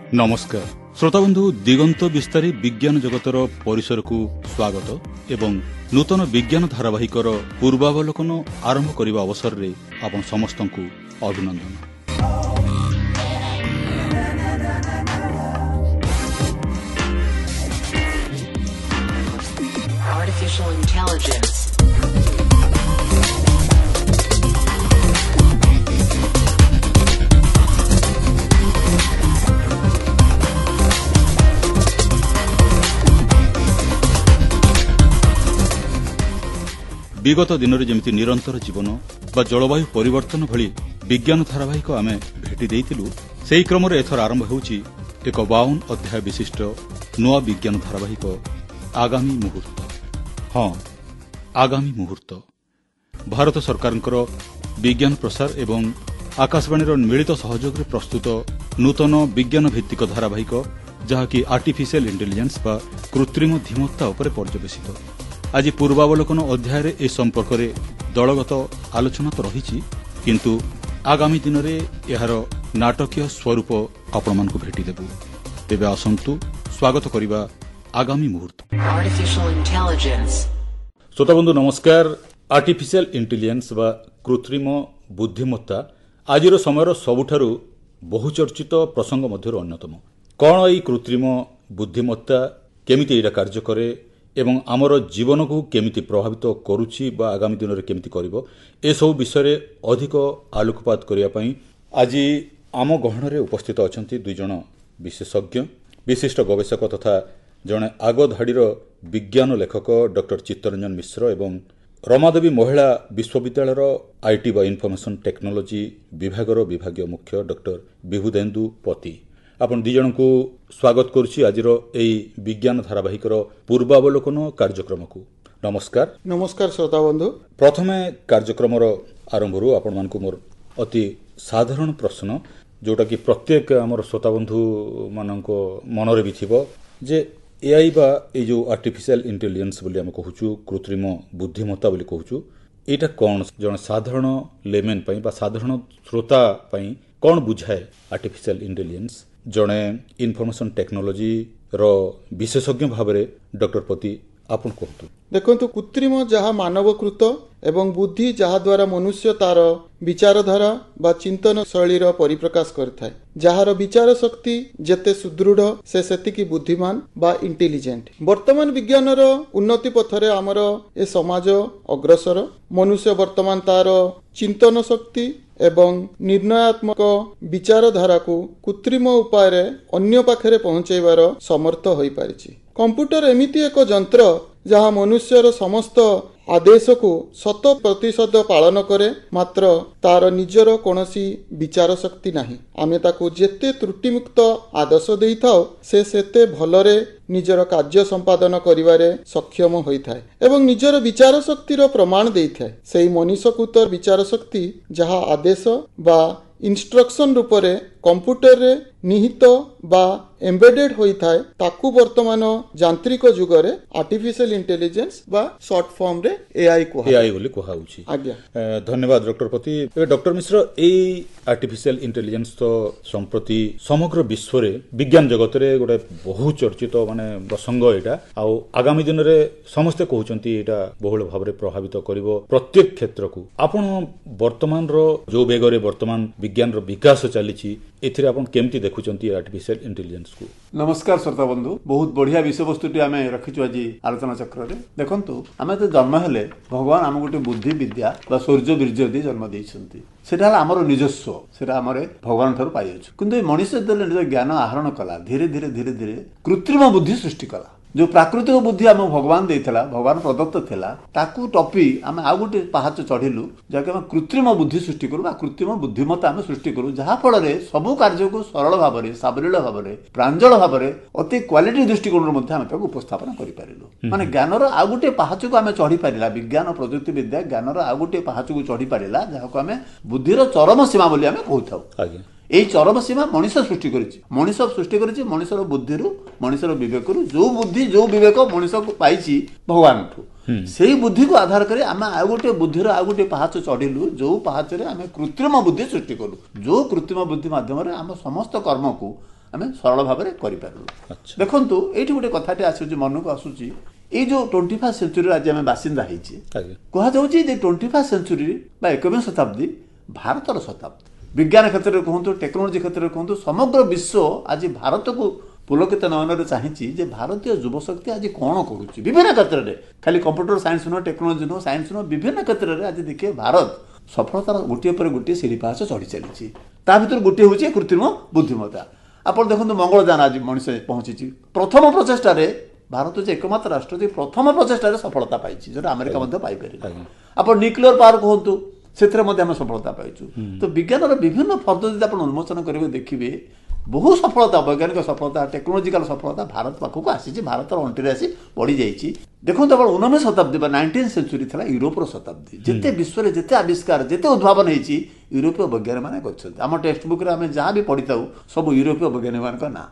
ନମସ୍କାର ଶ୍ରୋତାବନ୍ଧୁ, ଦିଗନ୍ତ ବିସ୍ତାରୀ ବିଜ୍ଞାନ ଜଗତର ପରିସରକୁ ସ୍ୱାଗତ ଏବଂ ନୂତନ ବିଜ୍ଞାନ ଧାରାବାହିକର ପୂର୍ବାବଲୋକନ ଆରମ୍ଭ କରିବା ଅବସରରେ ଆପଣ ସମସ୍ତଙ୍କୁ ଅଭିନନ୍ଦନ। Artificial intelligence. ବିଗତ ଦିନରେ ଯେମିତି ନିରନ୍ତର ଜୀବନ ବା ଜଳବାୟୁ ପରିବର୍ତ୍ତନ ଭଳି ବିଜ୍ଞାନ ଧାରାବାହିକ ଆମେ ଭେଟି ଦେଇଥିଲୁ, ସେହି କ୍ରମରେ ଏଥର ଆରମ୍ଭ ହେଉଛି ଏକ 52 ଅଧ୍ୟାୟ ବିଶିଷ୍ଟ ନୂଆ ବିଜ୍ଞାନ ଧାରାବାହିକ ଆଗାମୀ ମୁହୂର୍ତ୍ତ। ହଁ, ଆଗାମୀ ମୁହୂର୍ତ୍ତ ଭାରତ ସରକାରଙ୍କର ବିଜ୍ଞାନ ପ୍ରସାର ଏବଂ ଆକାଶବାଣୀର ମିଳିତ ସହଯୋଗରେ ପ୍ରସ୍ତୁତ ନୂତନ ବିଜ୍ଞାନ ଭିତ୍ତିକ ଧାରାବାହିକ, ଯାହାକି ଆର୍ଟିଫିସିଆଲ ଇଣ୍ଟେଲିଜେନ୍ସ ବା କୃତ୍ରିମ ଧୀମତ୍ତା ଉପରେ ପର୍ଯ୍ୟବେସିତ। ଆଜି ପୂର୍ବାବଲୋକନ ଅଧ୍ୟାୟରେ ଏ ସମ୍ପର୍କରେ ଦଳଗତ ଆଲୋଚନା ତ ରହିଛି, କିନ୍ତୁ ଆଗାମୀ ଦିନରେ ଏହାର ନାଟକୀୟ ସ୍ୱରୂପ ଆପଣମାନଙ୍କୁ ଭେଟିଦେବୁ। ତେବେ ଆସନ୍ତୁ ସ୍ୱାଗତ କରିବା ଆଗାମୀ ମୁହୂର୍ତ୍ତ। Artificial intelligence. ଶ୍ରୋତାବନ୍ଧୁ ନମସ୍କାର। ଆର୍ଟିଫିସିଆଲ ଇଣ୍ଟେଲିଜେନ୍ସ ବା କୃତ୍ରିମ ବୁଦ୍ଧିମତ୍ତା ଆଜିର ସମୟର ସବୁଠାରୁ ବହୁଚର୍ଚ୍ଚିତ ପ୍ରସଙ୍ଗ ମଧ୍ୟରୁ ଅନ୍ୟତମ। କ'ଣ ଏଇ କୃତ୍ରିମ ବୁଦ୍ଧିମତ୍ତା, କେମିତି ଏଇଟା କାର୍ଯ୍ୟ କରେ ଏବଂ ଆମର ଜୀବନକୁ କେମିତି ପ୍ରଭାବିତ କରୁଛି ବା ଆଗାମୀ ଦିନରେ କେମିତି କରିବ, ଏସବୁ ବିଷୟରେ ଅଧିକ ଆଲୋକପାତ କରିବା ପାଇଁ ଆଜି ଆମ ଗହଣରେ ଉପସ୍ଥିତ ଅଛନ୍ତି ଦୁଇ ଜଣ ବିଶେଷଜ୍ଞ, ବିଶିଷ୍ଟ ଗବେଷକ ତଥା ଜଣେ ଆଗଧାଡ଼ିର ବିଜ୍ଞାନ ଲେଖକ ଡକ୍ଟର ଚିତ୍ତରଞ୍ଜନ ମିଶ୍ର ଏବଂ ରମାଦେବୀ ମହିଳା ବିଶ୍ୱବିଦ୍ୟାଳୟର IT ବା ଇନଫର୍ମେସନ ଟେକ୍ନୋଲୋଜି ବିଭାଗର ବିଭାଗୀୟ ମୁଖ୍ୟ ଡକ୍ଟର ବିଭୁଦେନ୍ଦୁ ପତି। ଆପଣ ଦୁଇ ଜଣଙ୍କୁ ସ୍ୱାଗତ କରୁଛି ଆଜିର ଏଇ ବିଜ୍ଞାନ ଧାରାବାହିକର ପୂର୍ବାବଲୋକନ କାର୍ଯ୍ୟକ୍ରମକୁ। ନମସ୍କାର। ନମସ୍କାର ଶ୍ରୋତାବନ୍ଧୁ। ପ୍ରଥମେ କାର୍ଯ୍ୟକ୍ରମର ଆରମ୍ଭରୁ ଆପଣମାନଙ୍କୁ ମୋର ଅତି ସାଧାରଣ ପ୍ରଶ୍ନ, ଯେଉଁଟାକି ପ୍ରତ୍ୟେକ ଆମର ଶ୍ରୋତାବନ୍ଧୁମାନଙ୍କ ମନରେ ବି ଥିବ, ଯେ ଏଆଇ ବା ଏଇ ଯେଉଁ ଆର୍ଟିଫିସିଆଲ ଇଣ୍ଟେଲିଜେନ୍ସ ବୋଲି ଆମେ କହୁଛୁ, କୃତ୍ରିମ ବୁଦ୍ଧିମତ୍ତା ବୋଲି କହୁଛୁ, ଏଇଟା କ'ଣ ଜଣେ ସାଧାରଣ ଲେମେନ୍ ପାଇଁ ବା ସାଧାରଣ ଶ୍ରୋତା ପାଇଁ କ'ଣ ବୁଝାଏ ଆର୍ଟିଫିସିଆଲ ଇଣ୍ଟେଲିଜେନ୍ସ? ଜଣେ ଇନଫର୍ମେସନ ଟେକ୍ନୋଲୋଜିର ବିଶେଷଜ୍ଞ ଭାବରେ ଡକ୍ଟର ପତି ଆପଣ କୁହନ୍ତୁ। ଦେଖନ୍ତୁ, କୃତ୍ରିମ ଯାହା ମାନବକୃତ ଏବଂ ବୁଦ୍ଧି ଯାହାଦ୍ୱାରା ମନୁଷ୍ୟ ତାର ବିଚାରଧାରା ବା ଚିନ୍ତନ ଶୈଳୀର ପରିପ୍ରକାଶ କରିଥାଏ। ଯାହାର ବିଚାର ଶକ୍ତି ଯେତେ ସୁଦୃଢ଼, ସେ ସେତିକି ବୁଦ୍ଧିମାନ ବା ଇଣ୍ଟେଲିଜେଣ୍ଟ। ବର୍ତ୍ତମାନ ବିଜ୍ଞାନର ଉନ୍ନତି ପଥରେ ଆମର ଏ ସମାଜ ଅଗ୍ରସର। ମନୁଷ୍ୟ ବର୍ତ୍ତମାନ ତାର ଚିନ୍ତନ ଶକ୍ତି ଏବଂ ନିର୍ଣ୍ଣୟାତ୍ମକ ବିଚାରଧାରାକୁ କୃତ୍ରିମ ଉପାୟରେ ଅନ୍ୟ ପାଖରେ ପହଞ୍ଚାଇବାର ସମର୍ଥ ହୋଇପାରିଛି। କମ୍ପ୍ୟୁଟର ଏମିତି ଏକ ଯନ୍ତ୍ର ଯାହା ମନୁଷ୍ୟର ସମସ୍ତ ଆଦେଶକୁ 100% ପାଳନ କରେ, ମାତ୍ର ତାର ନିଜର କୌଣସି ବିଚାର ଶକ୍ତି ନାହିଁ। ଆମେ ତାକୁ ଯେତେ ତ୍ରୁଟିମୁକ୍ତ ଆଦେଶ ଦେଇଥାଉ, ସେ ସେତେ ଭଲରେ ନିଜର କାର୍ଯ୍ୟ ସମ୍ପାଦନ କରିବାରେ ସକ୍ଷମ ହୋଇଥାଏ ଏବଂ ନିଜର ବିଚାର ଶକ୍ତିର ପ୍ରମାଣ ଦେଇଥାଏ। ସେଇ ମନୁଷ୍ୟକୃତ ବିଚାର ଶକ୍ତି ଯାହା ଆଦେଶ ବା ଇନଷ୍ଟ୍ରକ୍ସନ ରୂପରେ କମ୍ପ୍ୟୁଟରରେ ନିହିତ ବା ଏମ୍ବେଡେଡ୍ ହୋଇଥାଏ, ତାକୁ ବର୍ତ୍ତମାନ ଯାନ୍ତ୍ରିକ ଯୁଗରେ ଆର୍ଟିଫିସିଆଲ ଇଣ୍ଟେଲିଜେନ୍ସ ବା ସର୍ଟ ଫର୍ମରେ ଏଆଇ କୁହା ଏଆଇ ବୋଲି କୁହାଯାଉଛି। ଆଜ୍ଞା, ଧନ୍ୟବାଦ ଡକ୍ଟର ପତି। ଏବେ ଡକ୍ଟର ମିଶ୍ର, ଏଇ ଆର୍ଟିଫିସିଆଲ ଇଣ୍ଟେଲିଜେନ୍ସ ତ ସମ୍ପ୍ରତି ସମଗ୍ର ବିଶ୍ୱରେ ବିଜ୍ଞାନ ଜଗତରେ ଗୋଟେ ବହୁ ଚର୍ଚ୍ଚିତ ମାନେ ପ୍ରସଙ୍ଗ ଏଇଟା, ଆଉ ଆଗାମୀ ଦିନରେ ସମସ୍ତେ କହୁଛନ୍ତି ଏଇଟା ବହୁଳ ଭାବରେ ପ୍ରଭାବିତ କରିବ ପ୍ରତ୍ୟେକ କ୍ଷେତ୍ରକୁ। ଆପଣ ବର୍ତ୍ତମାନର ଯୋଉ ବେଗରେ ବର୍ତ୍ତମାନ ବିଜ୍ଞାନର ବିକାଶ ଚାଲିଛି, ଏଥିରେ ଆପଣ କେମିତି ଦେଖୁଛନ୍ତି ଆର୍ଟିଫିସିଆଲ ଇଣ୍ଟେଲିଜେନ୍ସକୁ? ନମସ୍କାର ଶ୍ରୋତା ବନ୍ଧୁ, ବହୁତ ବଢିଆ ବିଷୟବସ୍ତୁଟି ଆମେ ରଖିଛୁ ଆଜି ଆଲୋଚନା ଚକ୍ରରେ। ଦେଖନ୍ତୁ, ଆମେ ତ ଜନ୍ମ ହେଲେ ଭଗବାନ ଆମକୁ ଗୋଟେ ବୁଦ୍ଧି ବିଦ୍ୟା ବା ଶୌର୍ଯ୍ୟ ବୀର୍ଯ୍ୟ ଦେଇ ଜନ୍ମ ଦେଇଛନ୍ତି। ସେଟା ହେଲା ଆମର ନିଜସ୍ୱ, ସେଟା ଆମର ଭଗବାନ ଠାରୁ ପାଇଅଛୁ। କିନ୍ତୁ ଏ ମଣିଷ ଯେତେବେଳେ ନିଜ ଜ୍ଞାନ ଆହରଣ କଲା, ଧୀରେ ଧୀରେ ଧୀରେ ଧୀରେ କୃତ୍ରିମ ବୁଦ୍ଧି ସୃଷ୍ଟି କଲା। ଯୋଉ ପ୍ରାକୃତିକ ବୁଦ୍ଧି ଆମକୁ ଭଗବାନ ଦେଇଥିଲା, ଭଗବାନ ପ୍ରଦତ୍ତ ଥିଲା, ତାକୁ ଟପି ଆମେ ଆଉ ଗୋଟେ ପାହାଚ ଚଢିଲୁ, ଯାହାକି ଆମେ କୃତ୍ରିମ ବୁଦ୍ଧି ସୃଷ୍ଟି କରୁ ବା କୃତ୍ରିମ ବୁଦ୍ଧିମତ୍ତା ଆମେ ସୃଷ୍ଟି କରୁ, ଯାହାଫଳରେ ସବୁ କାର୍ଯ୍ୟକୁ ସରଳ ଭାବରେ, ସାବଲୀଳ ଭାବରେ, ପ୍ରାଞ୍ଜଳ ଭାବରେ, ଅତି କ୍ୱାଲିଟି ଦୃଷ୍ଟିକୋଣରୁ ମଧ୍ୟ ଆମେ ତାକୁ ଉପସ୍ଥାପନ କରିପାରିଲୁ। ମାନେ ଜ୍ଞାନର ଆଉ ଗୋଟିଏ ପାହାଚକୁ ଆମେ ଚଢି ପାରିଲା, ବିଜ୍ଞାନ ପ୍ରଯୁକ୍ତି ବିଦ୍ୟା ଜ୍ଞାନର ଆଉ ଗୋଟିଏ ପାହାଚକୁ ଚଢି ପାରିଲା, ଯାହାକୁ ଆମେ ବୁଦ୍ଧିର ଚରମ ସୀମା ବୋଲି ଆମେ କହୁଥାଉ। ଆଜ୍ଞା, ଏଇ ଚରମ ସୀମା ମଣିଷ ସୃଷ୍ଟି କରିଛି। ମଣିଷ ସୃଷ୍ଟି କରିଛି ମଣିଷର ବୁଦ୍ଧିରୁ, ମଣିଷର ବିବେକରୁ। ଯୋଉ ବୁଦ୍ଧି ଯୋଉ ବିବେକ ମଣିଷକୁ ପାଇଛି ଭଗବାନଠୁ, ସେଇ ବୁଦ୍ଧିକୁ ଆଧାର କରି ଆମେ ଆଉ ଗୋଟିଏ ବୁଦ୍ଧିର ଆଉ ଗୋଟିଏ ପାହାଚ ଚଢିଲୁ, ଯୋଉ ପାହାଚରେ ଆମେ କୃତ୍ରିମ ବୁଦ୍ଧି ସୃଷ୍ଟି କଲୁ, ଯୋଉ କୃତ୍ରିମ ବୁଦ୍ଧି ମାଧ୍ୟମରେ ଆମ ସମସ୍ତ କର୍ମକୁ ଆମେ ସରଳ ଭାବରେ କରିପାରିଲୁ। ଦେଖନ୍ତୁ, ଏଇଠି ଗୋଟେ କଥାଟି ଆସୁଛି, ମନକୁ ଆସୁଛି, ଏଇ ଯୋଉ 21st ସେଞ୍ଚୁରୀରେ ଆଜି ଆମେ ବାସିନ୍ଦା ହେଇଛେ, କୁହାଯାଉଛି ଯେ 21st century ବା 21ଶ ଶତାବ୍ଦୀ ଭାରତର ଶତାବ୍ଦୀ। ବିଜ୍ଞାନ କ୍ଷେତ୍ରରେ କୁହନ୍ତୁ, ଟେକ୍ନୋଲୋଜି କ୍ଷେତ୍ରରେ କୁହନ୍ତୁ, ସମଗ୍ର ବିଶ୍ୱ ଆଜି ଭାରତକୁ ପୁଲକିତ ନୟନରେ ଚାହିଁଛି ଯେ ଭାରତୀୟ ଯୁବଶକ୍ତି ଆଜି କ'ଣ କରୁଛି ବିଭିନ୍ନ କ୍ଷେତ୍ରରେ। ଖାଲି କମ୍ପ୍ୟୁଟର ସାଇନ୍ସ ନୁହଁ, ଟେକ୍ନୋଲୋଜି ନୁହଁ, ସାଇନ୍ସ ନୁହଁ, ବିଭିନ୍ନ କ୍ଷେତ୍ରରେ ଆଜି ଦେଖିବେ ଭାରତ ସଫଳତାର ଗୋଟିଏ ପରେ ଗୋଟିଏ ସିଡ଼ି ପାହାଚ ଚଢ଼ି ଚାଲିଛି। ତା ଭିତରୁ ଗୋଟିଏ ହେଉଛି କୃତ୍ରିମ ବୁଦ୍ଧିମତ୍ତା। ଆପଣ ଦେଖନ୍ତୁ, ମଙ୍ଗଳଯାନ ଆଜି ମଣିଷ ପହଞ୍ଚିଛି। ପ୍ରଥମ ପ୍ରଚେଷ୍ଟାରେ ଭାରତ ଯେ ଏକମାତ୍ର ରାଷ୍ଟ୍ର ଯେ ପ୍ରଥମ ପ୍ରଚେଷ୍ଟାରେ ସଫଳତା ପାଇଛି, ଯେଉଁଟା ଆମେରିକା ମଧ୍ୟ ପାଇପାରିବ। ଆପଣ ନ୍ୟୁକ୍ଲିୟର ପାୱାର କୁହନ୍ତୁ, ସେଥିରେ ମଧ୍ୟ ଆମେ ସଫଳତା ପାଇଛୁ। ତ ବିଜ୍ଞାନର ବିଭିନ୍ନ ଫର୍ଦ୍ଦ ଯଦି ଆପଣ ଉନ୍ମୋଚନ କରିବେ, ଦେଖିବେ ବହୁ ସଫଳତା, ବୈଜ୍ଞାନିକ ସଫଳତା, ଟେକ୍ନୋଲୋଜିକାଲ ସଫଳତା ଭାରତ ପାଖକୁ ଆସିଛି, ଭାରତର ଅଣ୍ଟିରେ ଆସି ପଡ଼ିଯାଇଛି। ଦେଖନ୍ତୁ, ଆପଣ 19 ଶତାବ୍ଦୀ ବା 19th century ଥିଲା ୟୁରୋପର ଶତାବ୍ଦୀ। ଯେତେ ବିଶ୍ୱରେ ଯେତେ ଆବିଷ୍କାର, ଯେତେ ଉଦ୍ଭାବନ ହେଇଛି, ୟୁରୋପୀୟ ବୈଜ୍ଞାନିକମାନେ କରିଛନ୍ତି। ଆମ ଟେକ୍ସଟ ବୁକ୍ରେ ଆମେ ଯାହା ବି ପଢ଼ିଥାଉ, ସବୁ ୟୁରୋପୀୟ ବୈଜ୍ଞାନିକମାନଙ୍କ ନାଁ।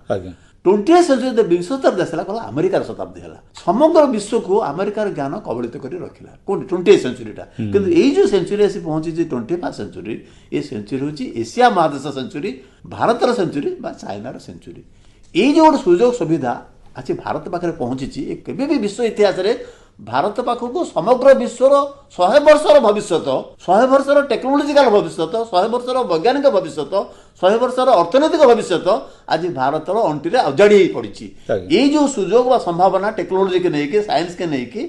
20th century, ବିଂଶ ଶତାବ୍ଦୀ ଆସିଲା, କହିଲା ଆମେରିକାର ଶତାବ୍ଦୀ ହେଲା। ସମଗ୍ର ବିଶ୍ୱକୁ ଆମେରିକାର ଜ୍ଞାନ କବଳିତ କରି ରଖିଲା କୋଉଠି 20th ସେଞ୍ଚୁରୀଟା। କିନ୍ତୁ ଏଇ ଯୋଉ ସେଞ୍ଚୁରୀ ଆସି ପହଞ୍ଚିଛି 21st century, ଏ ସେଞ୍ଚୁରୀ ହେଉଛି ଏସିଆ ମହାଦେଶ ସେଞ୍ଚୁରୀ, ଭାରତର ସେଞ୍ଚୁରୀ ବା ଚାଇନାର ସେଞ୍ଚୁରୀ। ଏଇ ଯୋଉ ଗୋଟେ ସୁଯୋଗ ସୁବିଧା ଆଜି ଭାରତ ପାଖରେ ପହଞ୍ଚିଛି, ଏ କେବେ ବି ବିଶ୍ୱ ଇତିହାସରେ ଭାରତ ପାଖକୁ ସମଗ୍ର ବିଶ୍ୱର 100 ବର୍ଷର ଭବିଷ୍ୟତ, 100 ବର୍ଷର ଟେକ୍ନୋଲୋଜିକାଲ ଭବିଷ୍ୟତ, 100 ବର୍ଷର ବୈଜ୍ଞାନିକ ଭବିଷ୍ୟତ, 100 ବର୍ଷର ଅର୍ଥନୈତିକ ଭବିଷ୍ୟତ ଆଜି ଭାରତର ଅଣ୍ଟିରେ ଅଜାଡ଼ି ହେଇ ପଡ଼ିଛି। ଏଇ ଯୋଉ ସୁଯୋଗ ବା ସମ୍ଭାବନା ଟେକ୍ନୋଲୋଜିକି ନେଇକି, ସାଇନ୍ସକି ନେଇକି,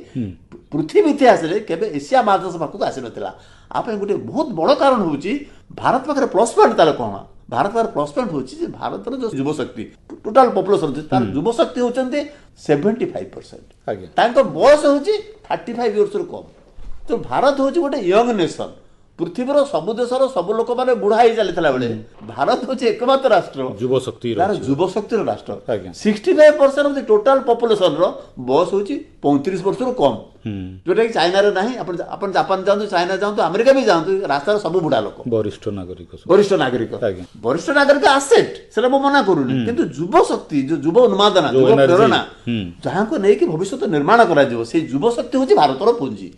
ପୃଥିବୀ ଇତିହାସରେ କେବେ ଏସିଆ ମହାଦେଶ ପାଖକୁ ଆସିନଥିଲା। ଆ ପାଇଁ ଗୋଟେ ବହୁତ ବଡ଼ କାରଣ ହେଉଛି ଭାରତ ପାଖରେ ପ୍ଲସ୍ ପଏଣ୍ଟ। ତାର କ'ଣ? ଭାରତ ପାଖରେ ପ୍ଲସ୍ ପଏଣ୍ଟ ହେଉଛି ଯେ ଭାରତର ଯୋଉ ଯୁବଶକ୍ତି, ଟୋଟାଲ ପପୁଲେସନ, ତାର ଯୁବଶକ୍ତି ହେଉଛନ୍ତି 75%। ତାଙ୍କ ବୟସ ହେଉଛି 35 ଇୟର୍ସରୁ କମ୍। ତ ଭାରତ ହେଉଛି ଗୋଟେ ୟଙ୍ଗ ନେସନ୍। ପୃଥିବୀର ସବୁ ଦେଶର ସବୁ ଲୋକମାନେ ବୁଢା ହେଇ ଚାଲିଥିଲା ବେଳେ ଭାରତ ହେଉଛି ଏକମାତ୍ର ରାଷ୍ଟ୍ର ଯୁବଶକ୍ତି, ତାର ଯୁବଶକ୍ତିର ରାଷ୍ଟ୍ର। 65% ଅଫ the total ପପୁଲେସନର ବୟସ ହେଉଛି 35 ବର୍ଷରୁ କମ୍, ଯୋଉଟା କି ଚାଇନାରେ ନାହିଁ। ଆପଣ ଜାପାନ ଯାଆନ୍ତୁ, ଚାଇନା ଯାଆନ୍ତୁ, ଆମେରିକା ବି ଯାଆନ୍ତୁ, ରାସ୍ତାରେ ସବୁ ବୁଢା ଲୋକ, ବରିଷ୍ଠ ନାଗରିକ। ବରିଷ୍ଠ ନାଗରିକ, ବରିଷ୍ଠ ନାଗରିକ ଆସେଟ୍, ସେଟା ମୁଁ ମନା କରୁନି। କିନ୍ତୁ ଯୁବଶକ୍ତି, ଯୋଉ ଯୁବ ଉନ୍ମାଦନା, ଯୁବ ପ୍ରେରଣା, ଯାହାକୁ ନେଇକି ଭବିଷ୍ୟତ ନିର୍ମାଣ କରାଯିବ, ସେଇ ଯୁବଶକ୍ତି ହେଉଛି ଭାରତର ପୁଞ୍ଜି।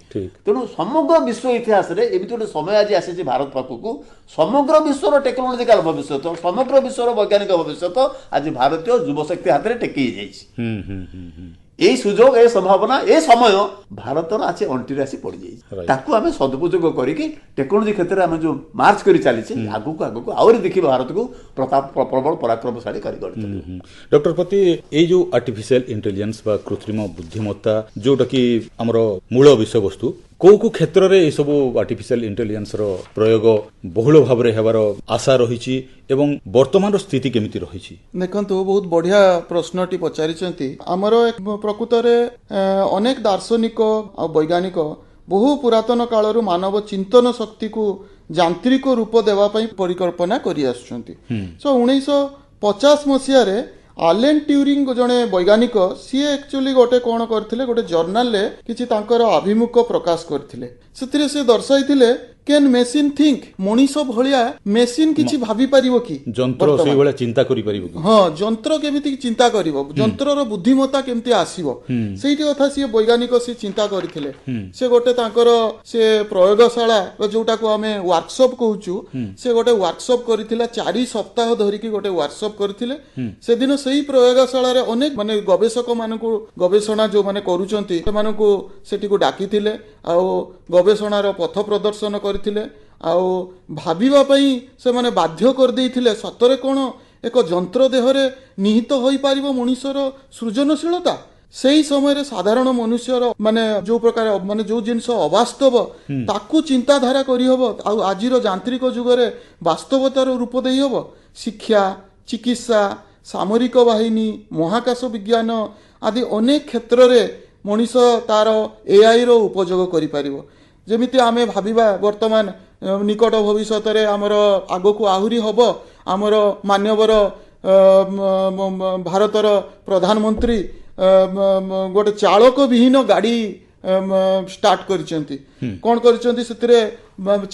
ତେଣୁ ସମଗ୍ର ବିଶ୍ୱ ଇତିହାସରେ ଏମିତି ଗୋଟେ ସମୟ ଆଜି ଆସିଛି ଭାରତ ପାଖକୁ, ସମଗ୍ର ବିଶ୍ୱର ଟେକ୍ନୋଲୋଜିକାଲ ଭବିଷ୍ୟତ, ସମଗ୍ର ବିଶ୍ୱର ବୈଜ୍ଞାନିକ ଭବିଷ୍ୟତ ଆଜି ଭାରତୀୟ ଯୁବଶକ୍ତି ହାତରେ ଟେକି ହେଇଯାଇଛି। ଏଇ ସୁଯୋଗ, ଏ ସମ୍ଭାବନା, ଏ ସମୟ ଭାରତର ଆସି ଅଣ୍ଟିରେ ଆସି ପଡ଼ିଯାଇଛି। ତାକୁ ଆମେ ସଦୁପଯୋଗ କରିକି ଟେକ୍ନୋଲୋଜି କ୍ଷେତ୍ରରେ ଆମେ ଯୋଉ ମାର୍ଚ୍ଚ କରି ଚାଲିଛେ, ଆଗକୁ ଆଗକୁ ଆହୁରି ଦେଖିବା ଭାରତକୁ ପ୍ରତାପ ପ୍ରବଳ ପରାକ୍ରମଶାଳୀ କରି ଗଢ଼ି। ଡକ୍ଟର ପତି, ଏଇ ଯୋଉ ଆର୍ଟିଫିସିଆଲ ଇଣ୍ଟେଲିଜେନ୍ସ ବା କୃତ୍ରିମ ବୁଦ୍ଧିମତ୍ତା, ଯୋଉଟା କି ଆମର ମୂଳ ବିଷୟବସ୍ତୁ, କୋଉ କୋଉ କ୍ଷେତ୍ରରେ ଏସବୁ ଆର୍ଟିଫିସିଆଲ ଇଣ୍ଟେଲିଜେନ୍ସର ପ୍ରୟୋଗ ବହୁଳ ଭାବରେ ହେବାର ଆଶା ରହିଛି ଏବଂ ବର୍ତ୍ତମାନର ସ୍ଥିତି କେମିତି ରହିଛି? ଦେଖନ୍ତୁ, ବହୁତ ବଢିଆ ପ୍ରଶ୍ନଟି ପଚାରିଛନ୍ତି। ଆମର ପ୍ରକୃତରେ ଅନେକ ଦାର୍ଶନିକ ଆଉ ବୈଜ୍ଞାନିକ ବହୁ ପୁରାତନ କାଳରୁ ମାନବ ଚିନ୍ତନ ଶକ୍ତିକୁ ଯାନ୍ତ୍ରିକ ରୂପ ଦେବା ପାଇଁ ପରିକଳ୍ପନା କରି ଆସୁଛନ୍ତି। ସୋ 1950 ମସିହାରେ ଆଲେନ୍ ଟ୍ୟୁରିଂ ଜଣେ ବୈଜ୍ଞାନିକ, ସିଏ ଆକ୍ଚୁଆଲି ଗୋଟେ କ'ଣ କରିଥିଲେ, ଗୋଟେ ଜର୍ନାଲରେ କିଛି ତାଙ୍କର ଆଭିମୁଖ୍ୟ ପ୍ରକାଶ କରିଥିଲେ। ସେଥିରେ ସେ ଦର୍ଶାଇଥିଲେ, can machine think? ମଣିଷ ଭଳିଆ ମେସିନ୍ କିଛି ଭାବି ପାରିବ କି? ଯନ୍ତ୍ର ସେଇଭଳିଆ ଚିନ୍ତା କରିପାରିବ କି? ହଁ, ଯନ୍ତ୍ର କେମିତି ଚିନ୍ତା କରିବ, ଯନ୍ତ୍ରର ବୁଦ୍ଧିମତ୍ତା କେମିତି ଆସିବ, ସେଇଠି କଥା ସିଏ ବୈଜ୍ଞାନିକ ସିଏ ଚିନ୍ତା କରିଥିଲେ। ସେ ଗୋଟେ ତାଙ୍କର ସେ ପ୍ରୟୋଗଶାଳା, ଯୋଉଟାକୁ ଆମେ ୱାର୍କସପ୍ କହୁଛୁ, ସେ ଗୋଟେ ୱାର୍କସପ୍ କରିଥିଲା। 4 ସପ୍ତାହ ଧରିକି ଗୋଟେ ୱାର୍କସପ୍ କରିଥିଲେ। ସେଦିନ ସେଇ ପ୍ରୟୋଗଶାଳାରେ ଅନେକ ମାନେ ଗବେଷକ ମାନଙ୍କୁ, ଗବେଷଣା ଯୋଉମାନେ କରୁଛନ୍ତି ସେମାନଙ୍କୁ ସେଠିକୁ ଡାକିଥିଲେ ଆଉ ଗବେଷଣାର ପଥ ପ୍ରଦର୍ଶନ କରିଥିଲେ ଆଉ ଭାବିବା ପାଇଁ ସେମାନେ ବାଧ୍ୟ କରିଦେଇଥିଲେ, ସତରେ କ'ଣ ଏକ ଯନ୍ତ୍ର ଦେହରେ ନିହିତ ହୋଇପାରିବ ମଣିଷର ସୃଜନଶୀଳତା? ସେଇ ସମୟରେ ସାଧାରଣ ମନୁଷ୍ୟର ମାନେ ଯୋଉ ପ୍ରକାର ମାନେ ଯୋଉ ଜିନିଷ ଅବାସ୍ତବ ତାକୁ ଚିନ୍ତାଧାରା କରିହବ ଆଉ ଆଜିର ଯାନ୍ତ୍ରିକ ଯୁଗରେ ବାସ୍ତବତାର ରୂପ ଦେଇହବ। ଶିକ୍ଷା, ଚିକିତ୍ସା, ସାମରିକ ବାହିନୀ, ମହାକାଶ ବିଜ୍ଞାନ ଆଦି ଅନେକ କ୍ଷେତ୍ରରେ ମଣିଷ ତାର ଏଆଇର ଉପଯୋଗ କରିପାରିବ। ଯେମିତି ଆମେ ଭାବିବା, ବର୍ତ୍ତମାନ ନିକଟ ଭବିଷ୍ୟତରେ ଆମର ଆଗକୁ ଆହୁରି ହବ, ଆମର ମାନ୍ୟବର ଭାରତର ପ୍ରଧାନମନ୍ତ୍ରୀ ଗୋଟେ ଚାଳକ ବିହୀନ ଗାଡ଼ି ଷ୍ଟାର୍ଟ କରିଛନ୍ତି। କ'ଣ କରିଛନ୍ତି? ସେଥିରେ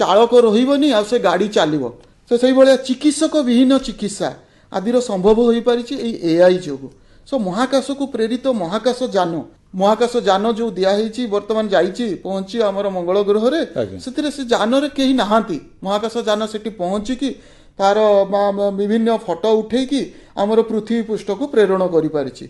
ଚାଳକ ରହିବନି ଆଉ ସେ ଗାଡ଼ି ଚାଲିବ। ତ ସେଇଭଳିଆ ଚିକିତ୍ସକ ବିହୀନ ଚିକିତ୍ସା ଆଦିର ସମ୍ଭବ ହୋଇପାରିଛି ଏଇ ଏଆଇ ଯୋଗୁଁ। ସୋ ମହାକାଶକୁ ପ୍ରେରିତ ମହାକାଶ ଯାନ ଯୋଉ ଦିଆହେଇଛି, ବର୍ତ୍ତମାନ ଯାଇଛି ପହଞ୍ଚି ଆମର ମଙ୍ଗଳ ଗ୍ରହରେ, ସେଥିରେ ସେ ଯାନରେ କେହି ନାହାନ୍ତି। ମହାକାଶ ଯାନ ସେଠି ପହଞ୍ଚିକି ତାର ବିଭିନ୍ନ ଫଟୋ ଉଠେଇକି ଆମର ପୃଥିବୀ ପୃଷ୍ଠକୁ ପ୍ରେରଣ କରିପାରିଛି।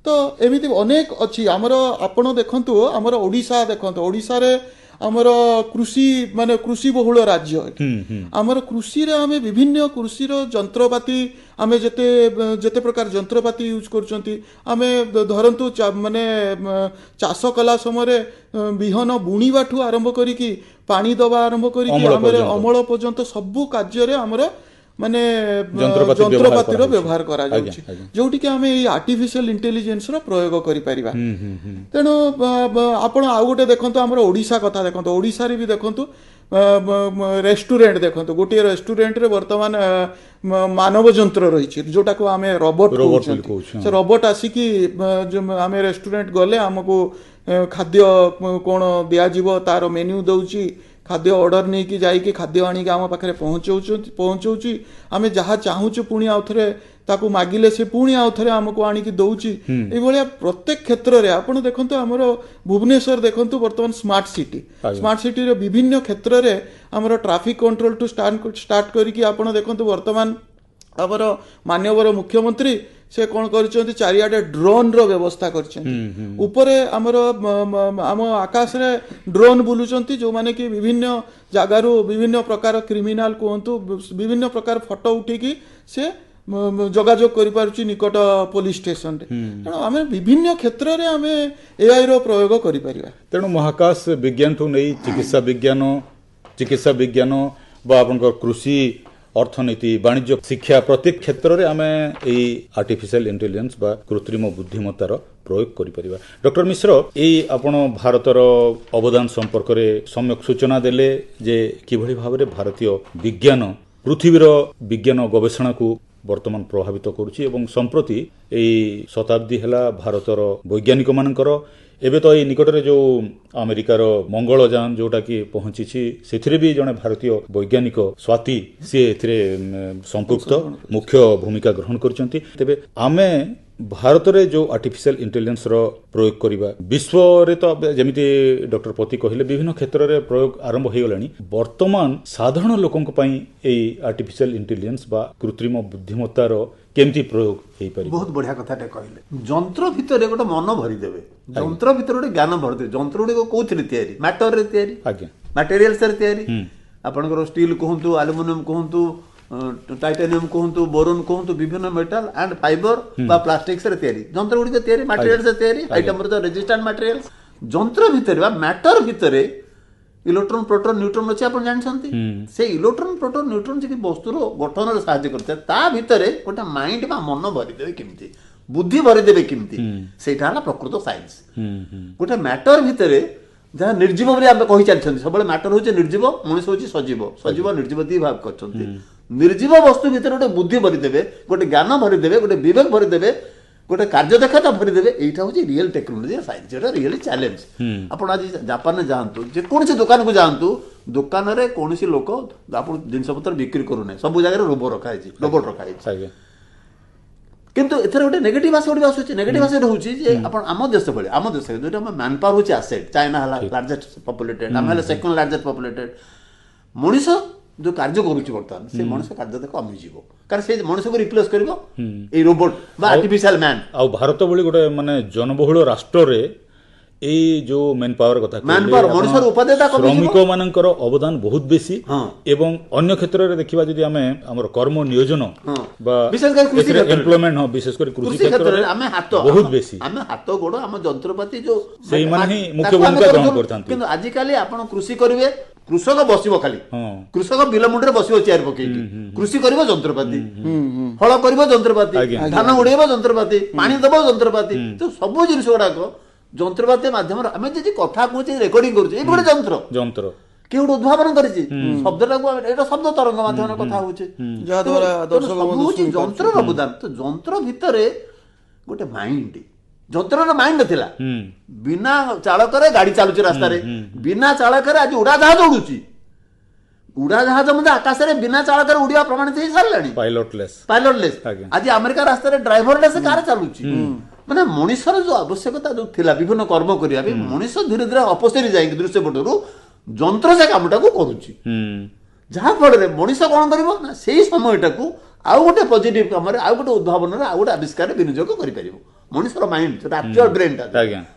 ତ ଏମିତି ଅନେକ ଅଛି ଆମର। ଆପଣ ଦେଖନ୍ତୁ ଆମର ଓଡ଼ିଶା ଦେଖନ୍ତୁ, ଓଡ଼ିଶାରେ ଆମର କୃଷି ମାନେ କୃଷି ବହୁଳ ରାଜ୍ୟ। ଆମର କୃଷିରେ ଆମେ ବିଭିନ୍ନ କୃଷିର ଯନ୍ତ୍ରପାତି, ଆମେ ଯେତେ ଯେତେ ପ୍ରକାର ଯନ୍ତ୍ରପାତି ୟୁଜ୍ କରୁଛନ୍ତି, ଆମେ ଧରନ୍ତୁ ମାନେ ଚାଷ କଲା ସମୟରେ ବିହନ ବୁଣିବାଠୁ ଆରମ୍ଭ କରିକି ପାଣି ଦେବା ଆରମ୍ଭ କରିକି ଆମର ଅମଳ ପର୍ଯ୍ୟନ୍ତ ସବୁ କାର୍ଯ୍ୟରେ ଆମର ମାନେ ଯନ୍ତ୍ରପାତିର ବ୍ୟବହାର କରାଯାଉଛି, ଯୋଉଠିକି ଆମେ ଏଇ ଆର୍ଟିଫିସିଆଲ ଇଣ୍ଟେଲିଜେନ୍ସର ପ୍ରୟୋଗ କରିପାରିବା। ତେଣୁ ଆପଣ ଆଉ ଗୋଟେ ଦେଖନ୍ତୁ, ଆମର ଓଡ଼ିଶା କଥା ଦେଖନ୍ତୁ, ଓଡ଼ିଶାରେ ବି ଦେଖନ୍ତୁ ରେଷ୍ଟୁରାଣ୍ଟ ଦେଖନ୍ତୁ, ଗୋଟିଏ ରେଷ୍ଟୁରାଣ୍ଟରେ ବର୍ତ୍ତମାନ ମାନବ ଯନ୍ତ୍ର ରହିଛି ଯୋଉଟାକୁ ଆମେ ରୋବଟ କହୁଛନ୍ତି। ସେ ରୋବଟ ଆସିକି ଆମେ ରେଷ୍ଟୁରାଣ୍ଟ ଗଲେ ଆମକୁ ଖାଦ୍ୟ କ'ଣ ଦିଆଯିବ ତାର ମେନ୍ୟୁ ଦେଉଛି, ଖାଦ୍ୟ ଅର୍ଡର ନେଇକି ଯାଇକି ଖାଦ୍ୟ ଆଣିକି ଆମ ପାଖରେ ପହଞ୍ଚଉଛି। ଆମେ ଯାହା ଚାହୁଁଛୁ ପୁଣି ଆଉ ଥରେ ତାକୁ ମାଗିଲେ ସେ ପୁଣି ଆଉ ଥରେ ଆମକୁ ଆଣିକି ଦଉଛି। ଏଇଭଳିଆ ପ୍ରତ୍ୟେକ କ୍ଷେତ୍ରରେ ଆପଣ ଦେଖନ୍ତୁ, ଆମର ଭୁବନେଶ୍ୱର ଦେଖନ୍ତୁ ବର୍ତ୍ତମାନ ସ୍ମାର୍ଟ ସିଟି, ସ୍ମାର୍ଟ ସିଟିର ବିଭିନ୍ନ କ୍ଷେତ୍ରରେ ଆମର ଟ୍ରାଫିକ କଣ୍ଟ୍ରୋଲ ଟୁ ଷ୍ଟାର୍ଟ କରିକି ଆପଣ ଦେଖନ୍ତୁ ବର୍ତ୍ତମାନ ଆମର ମାନ୍ୟବର ମୁଖ୍ୟମନ୍ତ୍ରୀ ସେ କ'ଣ କରିଛନ୍ତି, ଚାରିଆଡ଼େ ଡ୍ରୋନ୍ର ବ୍ୟବସ୍ଥା କରିଛନ୍ତି। ଉପରେ ଆମର ଆମ ଆକାଶରେ ଡ୍ରୋନ୍ ବୁଲୁଛନ୍ତି, ଯେଉଁମାନେ କି ବିଭିନ୍ନ ଜାଗାରୁ ବିଭିନ୍ନ ପ୍ରକାର କ୍ରିମିନାଲ କୁହନ୍ତୁ, ବିଭିନ୍ନ ପ୍ରକାର ଫଟୋ ଉଠେଇକି ସେ ଯୋଗାଯୋଗ କରିପାରୁଛି ନିକଟ ପୋଲିସ ଷ୍ଟେସନରେ। ତେଣୁ ଆମେ ବିଭିନ୍ନ କ୍ଷେତ୍ରରେ ଆମେ ଏଆଇର ପ୍ରୟୋଗ କରିପାରିବା। ତେଣୁ ମହାକାଶ ବିଜ୍ଞାନଠୁ ନେଇ ଚିକିତ୍ସା ବିଜ୍ଞାନ ବା ଆପଣଙ୍କର କୃଷି, ଅର୍ଥନୀତି, ବାଣିଜ୍ୟ, ଶିକ୍ଷା, ପ୍ରତ୍ୟେକ କ୍ଷେତ୍ରରେ ଆମେ ଏଇ ଆର୍ଟିଫିସିଆଲ ଇଣ୍ଟେଲିଜେନ୍ସ ବା କୃତ୍ରିମ ବୁଦ୍ଧିମତ୍ତାର ପ୍ରୟୋଗ କରିପାରିବା। ଡକ୍ଟର ମିଶ୍ର, ଏଇ ଆପଣ ଭାରତର ଅବଦାନ ସମ୍ପର୍କରେ ସମ୍ୟକ ସୂଚନା ଦେଲେ ଯେ କିଭଳି ଭାବରେ ଭାରତୀୟ ବିଜ୍ଞାନ ପୃଥିବୀର ବିଜ୍ଞାନ ଗବେଷଣାକୁ ବର୍ତ୍ତମାନ ପ୍ରଭାବିତ କରୁଛି ଏବଂ ସମ୍ପ୍ରତି ଏଇ ଶତାବ୍ଦୀ ହେଲା ଭାରତର ବୈଜ୍ଞାନିକମାନଙ୍କର। ଏବେ ତ ଏଇ ନିକଟରେ ଯେଉଁ ଆମେରିକାର ମଙ୍ଗଳଯାନ ଯେଉଁଟାକି ପହଞ୍ଚିଛି, ସେଥିରେ ବି ଜଣେ ଭାରତୀୟ ବୈଜ୍ଞାନିକ ସ୍ୱାତି ସିଏ ଏଥିରେ ସମ୍ପୃକ୍ତ ମୁଖ୍ୟ ଭୂମିକା ଗ୍ରହଣ କରିଛନ୍ତି। ତେବେ ଆମେ ଭାରତରେ ଯେଉଁ ଆର୍ଟିଫିସିଆଲ ଇଣ୍ଟେଲିଜେନ୍ସର ପ୍ରୟୋଗ କରିବା, ବିଶ୍ୱରେ ତ ଯେମିତି ଡକ୍ଟର ପତି କହିଲେ ବିଭିନ୍ନ କ୍ଷେତ୍ରରେ ପ୍ରୟୋଗ ଆରମ୍ଭ ହୋଇଗଲାଣି, ବର୍ତ୍ତମାନ ସାଧାରଣ ଲୋକଙ୍କ ପାଇଁ ଏଇ ଆର୍ଟିଫିସିଆଲ ଇଣ୍ଟେଲିଜେନ୍ସ ବା କୃତ୍ରିମ ବୁଦ୍ଧିମତ୍ତାର କେମିତି ପ୍ରୟୋଗ ହେଇପାରିବ? ବହୁତ ବଢିଆ କଥାଟେ କହିଲେ। ଯନ୍ତ୍ର ଭିତରେ ଗୋଟେ ମନ ଭରିଦେବେ, ଯନ୍ତ୍ର ଭିତରେ ଗୋଟେ ଜ୍ଞାନ ଭରିଦେବେ। ଯନ୍ତ୍ର ଗୁଡ଼ିକ କୋଉଥିରେ ତିଆରି? ମ୍ୟାଟରରେ ତିଆରି, ଆଜ୍ଞା, ମ୍ୟାଟେରିଆଲ୍ସରେ ତିଆରି। ଆପଣଙ୍କର ଷ୍ଟିଲ୍ କୁହନ୍ତୁ, ଆଲୁମିନିୟମ କୁହନ୍ତୁ, ଟାଇଟାନିୟମ କୁହନ୍ତୁ, ବୋରୋନ କୁହନ୍ତୁ, ବିଭିନ୍ନ ମେଟାଲ ଆଣ୍ଡ ଫାଇବର ବା ପ୍ଲାଷ୍ଟିକ୍ସରେ ତିଆରି ଯନ୍ତ୍ର ଗୁଡ଼ିକ ତିଆରି, ମ୍ୟାଟେରିଆଲ୍ସରେ ତିଆରି, ହାଇ ଟେମ୍ପରେଚର ରେଜିଷ୍ଟାଣ୍ଟ ମ୍ୟାଟେରିଆଲ୍ସ। ଯନ୍ତ୍ର ଭିତରେ ବା ମ୍ୟାଟର ଭିତରେ ଇଲେକ୍ଟ୍ରନ, ପ୍ରୋଟନ, ନ୍ୟୁଟ୍ରନ ଅଛି, ଆପଣ ଜାଣିଛନ୍ତି। ସେ ଇଲେକ୍ଟ୍ରନ, ପ୍ରୋଟନ, ନ୍ୟୁଟ୍ରନ ଯେ ବସ୍ତୁର ଗଠନରେ ସାହାଯ୍ୟ କରିଥାଏ, ତା ଭିତରେ ଗୋଟେ ମାଇଣ୍ଡ ବା ମନ ଭରିଦେବେ କେମିତି, ବୁଦ୍ଧି ଭରିଦେବେ କେମିତି, ସେଇଟା ହେଲା ପ୍ରକୃତ ସାଇନ୍ସ। ଗୋଟେ ମ୍ୟାଟର ଭିତରେ ଯାହା ନିର୍ଜୀବ ବୋଲି ଆମେ କହି ଚାଲିଛନ୍ତି ସବୁବେଳେ, ମ୍ୟାଟର ହେଉଛି ନିର୍ଜୀବ, ମଣିଷ ହେଉଛି ସଜୀବ, ସଜୀବ ନିର୍ଜୀବ ଦି ଭାଗ କରିଛନ୍ତି। ନିର୍ଜୀବ ବସ୍ତୁ ଭିତରେ ଗୋଟେ ବୁଦ୍ଧି ଭରିଦେବେ, ଗୋଟେ ଜ୍ଞାନ ଭରିଦେବେ, ଗୋଟେ ବିବେକ ଭରିଦେବେ, ଗୋଟେ କାର୍ଯ୍ୟଦକ୍ଷତା ଭରିଦେବେ, ଏଇଟା ହେଉଛି ରିଏଲ ଟେକ୍ନୋଲୋଜି ସାଇନ୍ସ। ଏଇଟା ରିଏଲି ଚ୍ୟାଲେଞ୍ଜ। ଆପଣ ଆଜି ଜାପାନରେ ଯାଆନ୍ତୁ, ଯେକୌଣସି ଦୋକାନକୁ ଯାଆନ୍ତୁ, ଦୋକାନରେ କୌଣସି ଲୋକ ଆପଣ ଜିନିଷପତ୍ର ବିକ୍ରି କରୁନାହିଁ, ସବୁ ଜାଗାରେ ରୋବୋଟ ରଖାହେଇଛି, ରୋବୋଟ ରଖାହେଇଛି। କିନ୍ତୁ ଏଥିରେ ଗୋଟେ ନେଗେଟିଭ ଆସପେକ୍ଟ ବି ଆସୁଛି। ନେଗେଟିଭ ଆସପେକ୍ଟ ହେଉଛି ଯେ ଆପଣ ଆମ ଦେଶ ଭଳି, ଆମ ଦେଶରେ ଯେଉଁଟା ଆମ ମ୍ୟାନ୍ ପାୱାର ହେଉଛି ଆସେଟ୍, ଚାଇନା ହେଲା ଲାର୍ଜେଷ୍ଟ ପପୁଲେଟେଡ୍, ଆମେ ହେଲେ ସେକେଣ୍ଡ ଲାର୍ଜେଷ୍ଟ ପପୁଲେଟେଡ୍। ମଣିଷ ଯେଉଁ କାର୍ଯ୍ୟ କରୁଛି ବର୍ତ୍ତମାନ, ସେ ମଣିଷ କାର୍ଯ୍ୟ କମିଯିବ, କାରଣ ସେ ମଣିଷକୁ ରିପ୍ଲେସ୍ କରିବ ଏଇ ରୋବୋଟ ବା ଆର୍ଟିଫିସିଆଲ ମ୍ୟାନ୍। ଆଉ ଭାରତ ଭଳି ଗୋଟେ ମାନେ ଜନବହୁଳ ରାଷ୍ଟ୍ରରେ ଏଇ ଯୋଉ ମେନ୍ ପାୱାର କଥା, ମଣିଷର ଉପାଦେୟତା, ଶ୍ରମିକ ମାନଙ୍କର ଅବଦାନ ବହୁତ ବେଶୀ। ଏବଂ ଅନ୍ୟ କ୍ଷେତ୍ରରେ ଦେଖିବା ଯଦି ଆମେ ଆମର କର୍ମ ନିୟୋଜନ ବା ବିଶେଷ କରି କୃଷି ଏମ୍ପ୍ଲୟମେଣ୍ଟ, ହଁ, ବିଶେଷ କରି କୃଷି କ୍ଷେତ୍ରରେ ଆମେ ହାତ ବହୁତ ବେଶୀ, ଆମେ ହାତ ଗୋଡ଼, ଆମ ଯନ୍ତ୍ରପାତି ଯୋଉ ସେଇମାନେ ହିଁ ମୁଖ୍ୟ ଭୂମିକା ଗ୍ରହଣ କରିଥାନ୍ତି। କିନ୍ତୁ ଆଜିକାଲି ଆପଣ କୃଷି କରିବେ, କୃଷକ ବସିବ ଖାଲି, କୃଷକ ବିଲ ମୁଣ୍ଡରେ ବସିବ ଚେୟାର ପକେଇକି, କୃଷି କରିବ ଯନ୍ତ୍ରପାତି, ହଳ କରିବ ଯନ୍ତ୍ରପାତି, ଧାନ ଉଡେଇବ ଯନ୍ତ୍ରପାତି, ପାଣି ଦବ ଯନ୍ତ୍ରପାତି। ତ ସବୁ ଜିନିଷ ଗୁଡାକ ଯନ୍ତ୍ରପାତି ମାଧ୍ୟମରେ ଆମେ ଯଦି କଥା କହୁଛେ, ରେକର୍ଡିଂ କରୁଛେ, ଏଇ ଗୋଟେ ଯନ୍ତ୍ର, ଯନ୍ତ୍ର କିଏ ଗୋଟେ ଉଦ୍ଭାବନ କରିଛି ଶବ୍ଦଟାକୁ, ଏଇଟା ଶବ୍ଦ ତରଙ୍ଗ ମାଧ୍ୟମରେ କଥା ହଉଛେ, ଯାହାଦ୍ୱାରା ସବୁ ହଉଛି ଯନ୍ତ୍ରର ଅବଦାନ। ତ ଯନ୍ତ୍ର ଭିତରେ ଗୋଟେ ମାଇଣ୍ଡ, ଯନ୍ତ୍ରର ମାଇଣ୍ଡ ଥିଲା। ବିନା ଚାଳକରେ ଗାଡି ଚାଲୁଛି ରାସ୍ତାରେ, ବିନା ଚାଳକରେ ଆଜି ଉଡାଜାହାଜ ଉଡୁଛି, ଉଡାଜାହାଜ ମଧ୍ୟ ଆକାଶରେ ବିନା ଚାଳକରେ ଉଡିବା ପ୍ରମାଣିତ ହେଇ ସାରିଲାଣି, ପାଇଲଟଲେସ୍, ପାଇଲଟଲେସ୍। ଆଜି ଆମେରିକା ରାସ୍ତାରେ ଡ୍ରାଇଭରଲେସ୍ କାର ଚାଲୁଛି। ମାନେ ମଣିଷର ଯୋଉ ଆବଶ୍ୟକତା ଯୋଉ ଥିଲା ବିଭିନ୍ନ କର୍ମ କରିବା ପାଇଁ, ମଣିଷ ଧୀରେ ଧୀରେ ଅପସରି ଯାଇକି ଦୃଶ୍ୟପଟରୁ ଯନ୍ତ୍ର ସେ କାମଟାକୁ କରୁଛି। ଯାହାଫଳରେ ମଣିଷ କ'ଣ କରିବ ନା ସେଇ ସମୟଟାକୁ ଆଉ ଗୋଟେ ପଜିଟିଭ କାମରେ, ଆଉ ଗୋଟେ ଉଦ୍ଭାବନରେ, ଆଉ ଗୋଟେ ଆବିଷ୍କାରରେ ବିନିଯୋଗ କରିପାରିବ। ମଣିଷର ମାଇଣ୍ଡ ଯୋଉଟା ଆକ୍ଚୁଆଲ ବ୍ରେନଟା,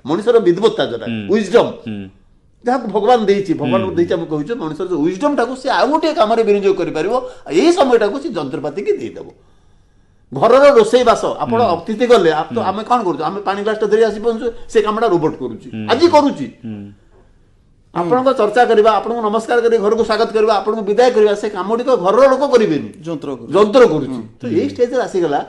ମଣିଷର ବିଦ୍ବତ୍ତା ଯୋଉଟା ୱିଜଡମ୍, ଯାହାକୁ ଭଗବାନ ଦେଇଛି, ଭଗବାନଙ୍କୁ ଦେଇଛି ଆମେ କହୁଛୁ, ମଣିଷର ଯୋଉ ୱିଜଡମ୍ଟାକୁ ସେ ଆଉ ଗୋଟିଏ କାମରେ ବିନିଯୋଗ କରିପାରିବ। ଏଇ ସମୟଟାକୁ ସେ ଯନ୍ତ୍ରପାତିକି ଦେଇଦେବ। ଘରର ରୋଷେଇ ବାସ, ଆପଣ ଅତିଥି ଗଲେ ଆମେ କ'ଣ କରୁଛୁ? ଆମେ ପାଣି ଗ୍ଲାସଟା ଧରି ଆସି ପହଞ୍ଚୁ, ସେ କାମଟା ରୋବୋଟ କରୁଛି, ଆଜି କରୁଛି। ଆପଣଙ୍କ ଚର୍ଚ୍ଚା କରିବା, ଆପଣଙ୍କୁ ନମସ୍କାର କରି ଘରକୁ ସ୍ୱାଗତ କରିବା, ଆପଣଙ୍କୁ ବିଦାୟ କରିବା, ସେ କାମଟିକ ଘରର ଲୋକ କରିବେନି, ଯନ୍ତ୍ର କରୁଛି। ତ ଏଇ ଷ୍ଟେଜରେ ଆସିଗଲା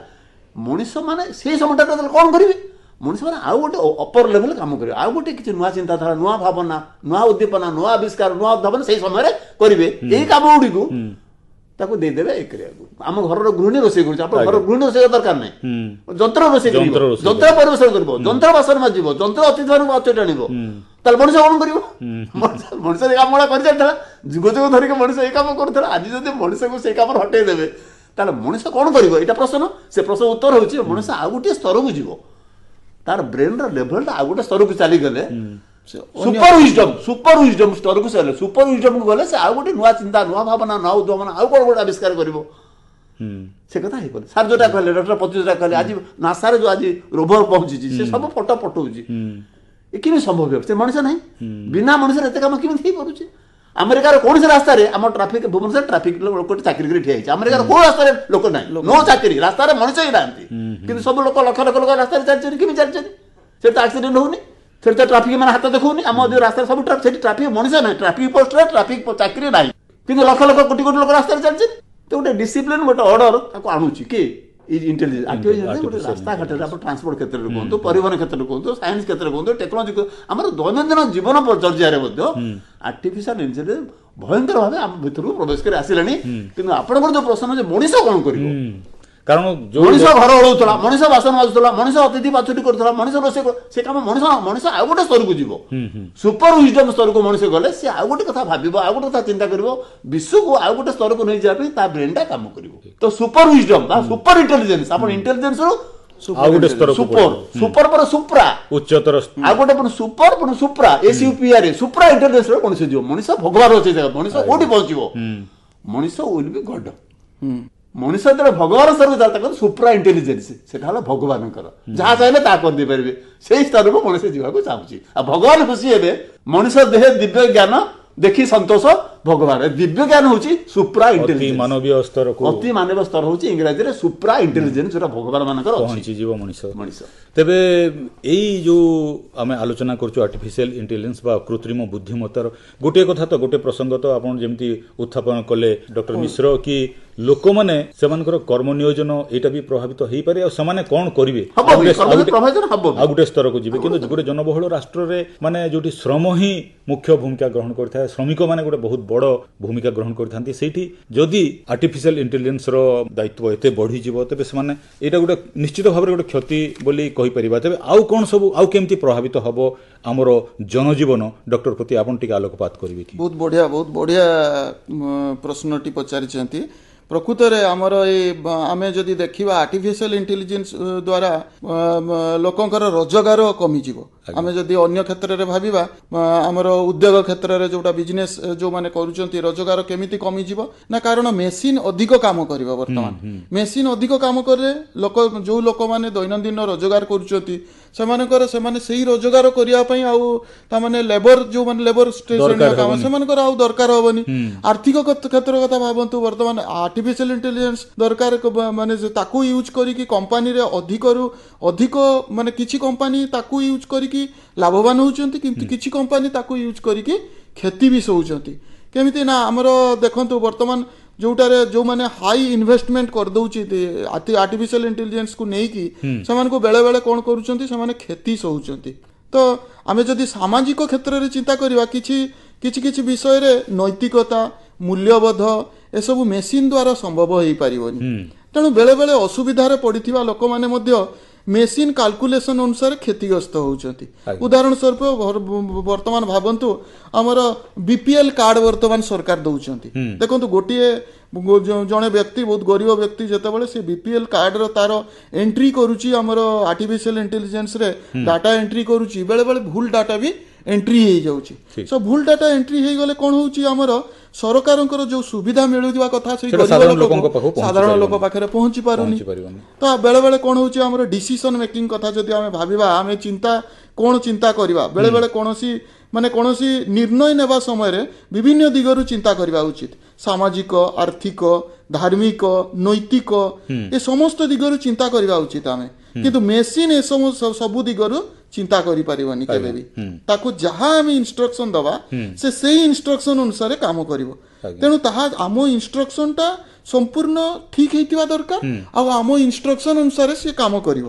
ମଣିଷ ମାନେ ସେଇ ସମୟଟା କ'ଣ କରିବେ? ମଣିଷ ମାନେ ଆଉ ଗୋଟେ ଅପର ଲେଭେଲ କାମ କରିବେ, ଆଉ ଗୋଟେ କିଛି ନୂଆ ଚିନ୍ତାଧାରା, ନୂଆ ଭାବନା, ନୂଆ ଉଦ୍ଦୀପନା, ନୂଆ ଆବିଷ୍କାର, ନୂଆ ଉଦ୍ଭାବନ ସେଇ ସମୟରେ କରିବେ। ଏଇ କାମ ଗୁଡ଼ିକୁ ତାକୁ ଦେଇଦେବେ ଏ କରିବାକୁ। ଆମ ଘରର ଗୃହିଣୀ ରୋଷେଇ କରୁଛି, ଆପଣ ଘର ଗୃହିଣୀ ରୋଷେଇ ଦରକାର ନାହିଁ, ଯନ୍ତ୍ର ରୋଷେଇ କରିବ, ଯନ୍ତ୍ର ପରିବେଷଣ କରିବ, ଯନ୍ତ୍ର ବାସନ ମାଜିବ, ଯନ୍ତ୍ର ଅତିଥି ମାନଙ୍କୁ ଅଚେଟ ଆଣିବ। ତାହେଲେ ମଣିଷ କ'ଣ କରିବ? ମଣିଷ ଏ କାମ ଗୁଡ଼ା କରିଚାଲିଥିଲା, ଯୁଗ ଯୁଗ ଧରିକି ମଣିଷ ଏଇ କାମ କରୁଥିଲା। ଆଜି ଯଦି ମଣିଷକୁ ସେଇ କାମରେ ହଟେଇ ଦେବେ ତାହେଲେ ମଣିଷ କ'ଣ କରିବ? ଏଇଟା ପ୍ରଶ୍ନ। ସେ ପ୍ରଶ୍ନ ଉତ୍ତର ହେଉଛି ମଣିଷ ଆଉ ଗୋଟିଏ ସ୍ତରକୁ ଯିବ, ତାର ବ୍ରେନ୍ର ଲେଭେଲଟା ଆଉ ଗୋଟେ ସ୍ତରକୁ ଚାଲିଗଲେ ସୁପର ୱିଜଡମ୍, ସୁପର ୱିଜଡମ୍ ସ୍ତରକୁ ସେ ଗଲେ, ସୁପର ୱିଜଡମ୍କୁ ଗଲେ ସେ ଆଉ ଗୋଟେ ନୂଆ ଚିନ୍ତା, ନୂଆ ଭାବନା, ନୂଆ ଉଦ୍ଭାବନ, ଆଉ କ'ଣ ଗୋଟେ ଆବିଷ୍କାର କରିବ। ସେ କଥା ହେଇପାରେ। ସାର୍ ଯୋଉଟା କହିଲେ, ଡକ୍ଟର ପତି ଯୋଉଟା କହିଲେ, ଆଜି ନାସାରେ ଯୋଉ ଆଜି ରୋଭର ପହଞ୍ଚିଛି, ସେ ସବୁ ଫଟୋ ପଠଉଛି, ଏ କେମିତି ସମ୍ଭବ ହେବ? ସେ ମଣିଷ ନାହିଁ, ବିନା ମଣିଷରେ ଏତେ କାମ କେମିତି ହେଇପାରୁଛି? ଆମେରିକାର କୌଣସି ରାସ୍ତାରେ ଆମ ଟ୍ରାଫିକ, ଭୁବନେଶ୍ୱର ଟ୍ରାଫିକ ଲୋକ ଚାକିରି କରି ଠିଆ ହେଇଛି, ଆମେରିକାର କୋଉ ରାସ୍ତାରେ ଲୋକ ନାହିଁ, ନୋ ଚାକିରି, ରାସ୍ତାରେ ମଣିଷ ହିଁ ନାହାନ୍ତି, କିନ୍ତୁ ସବୁ ଲୋକ ଲକ୍ଷ ଲକ୍ଷ ଲୋକ ରାସ୍ତାରେ ଚାଲିଛନ୍ତି। କେମିତି ଚାଲିଛନ୍ତି? ସେଠି ତ ଆକ୍ସିଡେଣ୍ଟ ହଉନି, ସେଠି ତ ଟ୍ରାଫିକ ମାନେ ହାତ ଦେଖାଉନି। ଆମ ଯୋଉ ରାସ୍ତାରେ ସବୁ ସେଠି ଟ୍ରାଫିକ ମଣିଷ ନାହିଁ, ଟ୍ରାଫିକ ପୋଷ୍ଟରେ ଟ୍ରାଫିକ ଚାକିରି ନାହିଁ, କିନ୍ତୁ ଲକ୍ଷ ଲକ୍ଷ କୋଟି କୋଟି ଲୋକ ରାସ୍ତାରେ ଚାଲିଛନ୍ତି। ତ ଗୋଟେ ଡିସିପ୍ଲିନ, ଗୋଟେ ଅର୍ଡର ତାକୁ ଆଣୁଛି କି ଇଣ୍ଟେଲିଜେନ୍ସ, ଆର୍ଟିଫିସିଆଲ। ଗୋଟେ ରାସ୍ତାଘାଟରେ ଆପଣ ଟ୍ରାନ୍ସପୋର୍ଟ କ୍ଷେତ୍ରରେ କୁହନ୍ତୁ, ପରିବହନ କ୍ଷେତ୍ରରେ କୁହନ୍ତୁ, ସାଇନ୍ସ କ୍ଷେତ୍ରରେ କୁହନ୍ତୁ, ଟେକ୍ନୋଲୋଜି, ଆମର ଦୈନନ୍ଦିନ ଜୀବନ ଚର୍ଯ୍ୟାରେ ମଧ୍ୟ ଆର୍ଟିଫିସିଆଲ ଇଣ୍ଟେଲିଜେନ୍ସ ଭୟଙ୍କର ଭାବେ ଆମ ଭିତରକୁ ପ୍ରବେଶ କରି ଆସିଲାଣି। କିନ୍ତୁ ଆପଣଙ୍କର ଯୋଉ ପ୍ରଶ୍ନ ଯେ ମଣିଷ କ'ଣ କରିବ, କାରଣ ମଣିଷ ଘର ଓଳଉଥିଲା, ମଣିଷ ବାସନ ମାଜୁଥିଲା, ମଣିଷ ଅତିଥି ପାଛୁଟି କରୁଥିଲା, ମଣିଷ ରୋଷେଇ, ସେ କାମ ମଣିଷ, ମଣିଷ ଆଉ ଗୋଟେ ସ୍ତରକୁ ଯିବ, ସୁପର ୱିଜଡମ୍ ସ୍ତରକୁ ମଣିଷ ଗଲେ ସେ ଆଉ ଗୋଟେ କଥା ଭାବିବ, ଆଉ ଗୋଟେ କଥା ଚିନ୍ତା କରିବ, ବିଶ୍ୱକୁ ଆଉ ଗୋଟେ ସ୍ତରକୁ ନେଇଯିବା ପାଇଁ ତା ବ୍ରେନଟା କାମ କରିବ। ତ ସୁପର ୱିଜଡମ୍ ବା ସୁପର ଇଣ୍ଟେଲିଜେନ୍ସ, ଆପଣ ଇଣ୍ଟେଲିଜେନ୍ସରୁ ଆଉ ଗୋଟେ ସ୍ତରକୁ, ସୁପର, ସୁପର ପରେ ସୁପ୍ରା, ଉଚ୍ଚତର, ଆଉ ଗୋଟେ ପୁଣି ସୁପର ପୁଣି supra, S U P R, supra intelligence ମଣିଷ ଯିବ। ମଣିଷ ଭଗବାନ ଅଛି, ମଣିଷ କୋଉଠି ପହଞ୍ଚିବ? ମଣିଷ will be ଗଡ। ମଣିଷ ଯେତେବେଳେ ଭଗବାନ ସ୍ତରକୁ ଯାଏ ତାକୁ ସୁପ୍ରା ଇଣ୍ଟେଲିଜେନ୍ସ, ସେଟା ହେଲା ଭଗବାନଙ୍କର, ଯାହା ଚାହିଁଲେ ତାହା କରିଦେଇପାରିବେ, ସେଇ ସ୍ତରକୁ ମଣିଷ ଯିବାକୁ ଚାହୁଁଛି। ଆଉ ଭଗବାନ ଖୁସି ହେବେ, ମଣିଷ ଦେହ ଦିବ୍ୟ ଜ୍ଞାନ ଦେଖି ସନ୍ତୋଷ ଭଗବାନ। ଦିବ୍ୟ ଜ୍ଞାନ ହଉଛି ସୁପ୍ରା ଇଣ୍ଟେଲିଜେନ୍ସ, ମାନବୀୟ ସ୍ତରକୁ, ଅତି ମାନବୀୟ ସ୍ତର ହଉଛି ଇଂରାଜୀରେ ସୁପ୍ରା ଇଣ୍ଟେଲିଜେନ୍ସ, ଯୋଉଟା ଭଗବାନ ମାନଙ୍କର ପହଞ୍ଚିଯିବ ମଣିଷ। ମଣିଷ ତେବେ ଏଇ ଯୋଉ ଆମେ ଆଲୋଚନା କରୁଛୁ ଆର୍ଟିଫିସିଆଲ ଇଣ୍ଟେଲିଜେନ୍ସ ବା କୃତ୍ରିମ ବୁଦ୍ଧିମତ୍ତାର ଗୋଟିଏ କଥା ତ, ଗୋଟିଏ ପ୍ରସଙ୍ଗ ତ ଆପଣ ଯେମିତି ଉତ୍ଥାପନ କଲେ ଡକ୍ଟର ମିଶ୍ର, କି ଲୋକମାନେ ସେମାନଙ୍କର କର୍ମ ନିୟୋଜନ ଏଇଟା ବି ପ୍ରଭାବିତ ହେଇପାରେ, ଆଉ ସେମାନେ କ'ଣ କରିବେ, ଆଉ ଗୋଟେ ସ୍ତରକୁ ଯିବେ। କିନ୍ତୁ ଗୋଟେ ଜନବହୁଳ ରାଷ୍ଟ୍ରରେ ମାନେ ଯୋଉଠି ଶ୍ରମ ହିଁ ମୁଖ୍ୟ ଭୂମିକା ଗ୍ରହଣ କରିଥାଏ, ଶ୍ରମିକମାନେ ଗୋଟେ ବହୁତ ବଡ଼ ଭୂମିକା ଗ୍ରହଣ କରିଥାନ୍ତି, ସେଇଠି ଯଦି ଆର୍ଟିଫିସିଆଲ ଇଣ୍ଟେଲିଜେନ୍ସର ଦାୟିତ୍ୱ ଏତେ ବଢ଼ିଯିବ ତେବେ ସେମାନେ ଏଇଟା ଗୋଟେ ନିଶ୍ଚିତ ଭାବରେ ଗୋଟେ କ୍ଷତି ବୋଲି କହିପାରିବା। ତେବେ ଆଉ କ'ଣ ସବୁ, ଆଉ କେମିତି ପ୍ରଭାବିତ ହବ ଆମର ଜନଜୀବନ, ଡକ୍ଟର ପ୍ରତି ଆପଣ ଟିକେ ଆଲୋକପାତ କରିବେ କି? ବହୁତ ବଢ଼ିଆ, ବହୁତ ବଢ଼ିଆ ପ୍ରଶ୍ନଟି ପଚାରିଛନ୍ତି। ପ୍ରକୃତରେ ଆମର ଏଇ ଆମେ ଯଦି ଦେଖିବା ଆର୍ଟିଫିସିଆଲ ଇଣ୍ଟେଲିଜେନ୍ସ ଦ୍ୱାରା ଲୋକଙ୍କର ରୋଜଗାର କମିଯିବ। ଆମେ ଯଦି ଅନ୍ୟ କ୍ଷେତ୍ରରେ ଭାବିବା, ଆମର ଉଦ୍ୟୋଗ କ୍ଷେତ୍ରରେ ଯୋଉଟା ବିଜନେସ୍ ଯୋଉମାନେ କରୁଛନ୍ତି, ରୋଜଗାର କେମିତି କମିଯିବ ନା, କାରଣ ମେସିନ୍ ଅଧିକ କାମ କରିବ। ବର୍ତ୍ତମାନ ମେସିନ୍ ଅଧିକ କାମ କଲେ ଲୋକ, ଯୋଉ ଲୋକମାନେ ଦୈନନ୍ଦିନ ରୋଜଗାର କରୁଛନ୍ତି ସେମାନଙ୍କର, ସେମାନେ ସେଇ ରୋଜଗାର କରିବା ପାଇଁ ଆଉ ତାମାନେ ଲେବର, ଯୋଉମାନେ ଲେବର ଶ୍ରେଣୀର କାମ ସେମାନଙ୍କର ଆଉ ଦରକାର ହବନି। ଆର୍ଥିକ କ୍ଷେତ୍ର କଥା ଭାବନ୍ତୁ, ବର୍ତ୍ତମାନ ଆର୍ଟିଫିସିଆଲ ଇଣ୍ଟେଲିଜେନ୍ସ ଦରକାର, ମାନେ ତାକୁ ୟୁଜ୍ କରିକି କମ୍ପାନୀରେ ଅଧିକରୁ ଅଧିକ, ମାନେ କିଛି କମ୍ପାନୀ ତାକୁ ୟୁଜ୍ କରିକି ଲାଭବାନ ହେଉଛନ୍ତି, କିନ୍ତୁ କିଛି କମ୍ପାନୀ ତାକୁ ୟୁଜ୍ କରିକି କ୍ଷତି ବି ସହୁଛନ୍ତି। କେମିତି ନା ଆମର ଦେଖନ୍ତୁ ବର୍ତ୍ତମାନ ଯୋଉଟାରେ ଯୋଉମାନେ ହାଇ ଇନଭେଷ୍ଟମେଣ୍ଟ କରିଦଉଛି ଆର୍ଟିଫିସିଆଲ ଇଣ୍ଟେଲିଜେନ୍ସକୁ ନେଇକି, ସେମାନଙ୍କୁ ବେଳେବେଳେ କ'ଣ କରୁଛନ୍ତି, ସେମାନେ କ୍ଷତି ସହୁଛନ୍ତି। ତ ଆମେ ଯଦି ସାମାଜିକ କ୍ଷେତ୍ରରେ ଚିନ୍ତା କରିବା, କିଛି କିଛି କିଛି ବିଷୟରେ ନୈତିକତା, ମୂଲ୍ୟବୋଧ ଏସବୁ ମେସିନ୍ ଦ୍ୱାରା ସମ୍ଭବ ହେଇପାରିବନି। ତେଣୁ ବେଳେବେଳେ ଅସୁବିଧାରେ ପଡ଼ିଥିବା ଲୋକମାନେ ମଧ୍ୟ ମେସିନ୍ କାଲକୁଲେସନ ଅନୁସାରେ କ୍ଷତିଗ୍ରସ୍ତ ହେଉଛନ୍ତି। ଉଦାହରଣ ସ୍ୱରୂପ ବର୍ତ୍ତମାନ ଭାବନ୍ତୁ ଆମର ବିପିଏଲ କାର୍ଡ ବର୍ତ୍ତମାନ ସରକାର ଦଉଛନ୍ତି। ଦେଖନ୍ତୁ ଗୋଟିଏ ଜଣେ ବ୍ୟକ୍ତି, ବହୁତ ଗରିବ ବ୍ୟକ୍ତି, ଯେତେବେଳେ ସେ ବିପିଏଲ କାର୍ଡର ତାର ଏଣ୍ଟ୍ରି କରୁଛି ଆମର ଆର୍ଟିଫିସିଆଲ ଇଣ୍ଟେଲିଜେନ୍ସରେ ଡାଟା ଏଣ୍ଟ୍ରି କରୁଛି, ବେଳେବେଳେ ଭୁଲ ଡାଟା ବି ଏଣ୍ଟ୍ରି ହେଇଯାଉଛି। ସୋ ଭୁଲ ଡାଟା ଏଣ୍ଟ୍ରି ହେଇଗଲେ କ'ଣ ହେଉଛି, ଆମର ସରକାରଙ୍କର ଯୋଉ ସୁବିଧା ମିଳୁଥିବା କଥା ସେଇ ଗରିବ ଲୋକଙ୍କ, ସାଧାରଣ ଲୋକ ପାଖରେ ପହଞ୍ଚି ପାରୁନି। ତ ବେଳେବେଳେ କ'ଣ ହେଉଛି, ଆମର ଡିସିସନ ମେକିଂ କଥା ଯଦି ଆମେ ଭାବିବା, ଆମେ ଚିନ୍ତା କ'ଣ ଚିନ୍ତା କରିବା, ବେଳେବେଳେ କୌଣସି ମାନେ କୌଣସି ନିର୍ଣ୍ଣୟ ନେବା ସମୟରେ ବିଭିନ୍ନ ଦିଗରୁ ଚିନ୍ତା କରିବା ଉଚିତ। ସାମାଜିକ, ଆର୍ଥିକ, ଧାର୍ମିକ, ନୈତିକ, ଏ ସମସ୍ତ ଦିଗରୁ ଚିନ୍ତା କରିବା ଉଚିତ ଆମେ। କିନ୍ତୁ ମେସିନ୍ ଏସବୁ ସବୁ ଦିଗରୁ ଚିନ୍ତା କରିପାରିବନି କେବେ ବି। ତାକୁ ଯାହା ଆମେ ଇନଷ୍ଟ୍ରକ୍ସନ ଦବା, ସେ ସେଇ ଇନଷ୍ଟ୍ରକ୍ସନ ଅନୁସାରେ କାମ କରିବ। ତେଣୁ ତାହା ଆମ ଇନଷ୍ଟ୍ରକ୍ସନଟା ସମ୍ପୂର୍ଣ୍ଣ ଠିକ ହେଇଥିବା ଦରକାର, ଆଉ ଆମ ଇନଷ୍ଟ୍ରକ୍ସନ ଅନୁସାରେ ସେ କାମ କରିବ।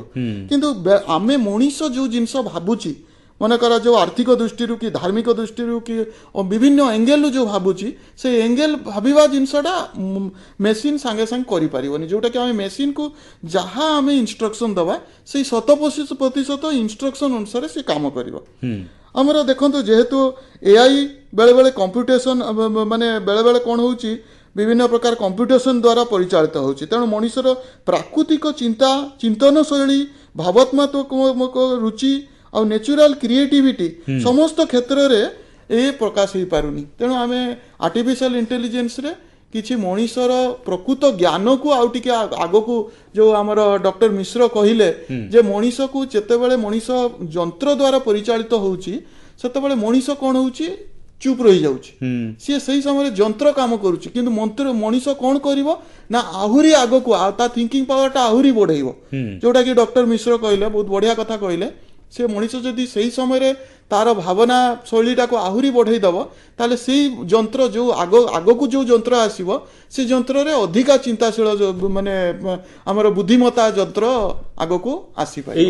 କିନ୍ତୁ ଆମେ ମଣିଷ ଯୋଉ ଜିନିଷ ଭାବୁଛି, ମନେକର ଯୋଉ ଆର୍ଥିକ ଦୃଷ୍ଟିରୁ କି ଧାର୍ମିକ ଦୃଷ୍ଟିରୁ କି ବିଭିନ୍ନ ଏଙ୍ଗେଲରୁ ଯୋଉ ଭାବୁଛି, ସେ ଏଙ୍ଗେଲ ଭାବିବା ଜିନିଷଟା ମେସିନ୍ ସାଙ୍ଗେ ସାଙ୍ଗେ କରିପାରିବନି। ଯୋଉଟାକି ଆମେ ମେସିନ୍କୁ ଯାହା ଆମେ ଇନଷ୍ଟ୍ରକ୍ସନ ଦେବା, ସେଇ 100% ଇନଷ୍ଟ୍ରକ୍ସନ ଅନୁସାରେ ସେ କାମ କରିବ। ଆମର ଦେଖନ୍ତୁ, ଯେହେତୁ ଏଆଇ ବେଳେବେଳେ କମ୍ପ୍ୟୁଟେସନ, ମାନେ ବେଳେବେଳେ କ'ଣ ହେଉଛି, ବିଭିନ୍ନ ପ୍ରକାର କମ୍ପ୍ୟୁଟେସନ ଦ୍ୱାରା ପରିଚାଳିତ ହେଉଛି। ତେଣୁ ମଣିଷର ପ୍ରାକୃତିକ ଚିନ୍ତା, ଚିନ୍ତନ ଶୈଳୀ, ଭାବାତ୍ମକ ରୁଚି ଆଉ ନ୍ୟାଚୁରାଲ କ୍ରିଏଟିଭିଟି ସମସ୍ତ କ୍ଷେତ୍ରରେ ଏ ପ୍ରକାଶ ହେଇପାରୁନି। ତେଣୁ ଆମେ ଆର୍ଟିଫିସିଆଲ ଇଣ୍ଟେଲିଜେନ୍ସରେ କିଛି ମଣିଷର ପ୍ରକୃତ ଜ୍ଞାନକୁ ଆଉ ଟିକେ ଆଗକୁ, ଯୋଉ ଆମର ଡକ୍ଟର ମିଶ୍ର କହିଲେ ଯେ ମଣିଷକୁ ଯେତେବେଳେ ମଣିଷ ଯନ୍ତ୍ର ଦ୍ୱାରା ପରିଚାଳିତ ହଉଛି, ସେତେବେଳେ ମଣିଷ କ'ଣ ହଉଛି, ଚୁପ୍ ରହିଯାଉଛି। ସିଏ ସେଇ ସମୟରେ ଯନ୍ତ୍ର କାମ କରୁଛି, କିନ୍ତୁ ମନ୍ତ୍ର ମଣିଷ କ'ଣ କରିବ ନା ଆହୁରି ଆଗକୁ ତା ଥିଙ୍କିଂ ପାୱାରଟା ଆହୁରି ବଢେଇବ। ଯୋଉଟା କି ଡକ୍ଟର ମିଶ୍ର କହିଲେ, ବହୁତ ବଢିଆ କଥା କହିଲେ। ସେ ମଣିଷ ଯଦି ସେଇ ସମୟରେ ତାର ଭାବନା ଶୈଳୀଟାକୁ ଆହୁରି ବଢେଇ ଦବ, ତାହେଲେ ସେଇ ଯନ୍ତ୍ର ଯୋଉ ଆଗକୁ ଯୋଉ ଯନ୍ତ୍ର ଆସିବ, ସେ ଯନ୍ତ୍ରରେ ଅଧିକା ଚିନ୍ତାଶୀଳ, ମାନେ ଆମର ବୁଦ୍ଧିମତ୍ତା ଯନ୍ତ୍ର ଆଗକୁ ଆସିପାରିବ।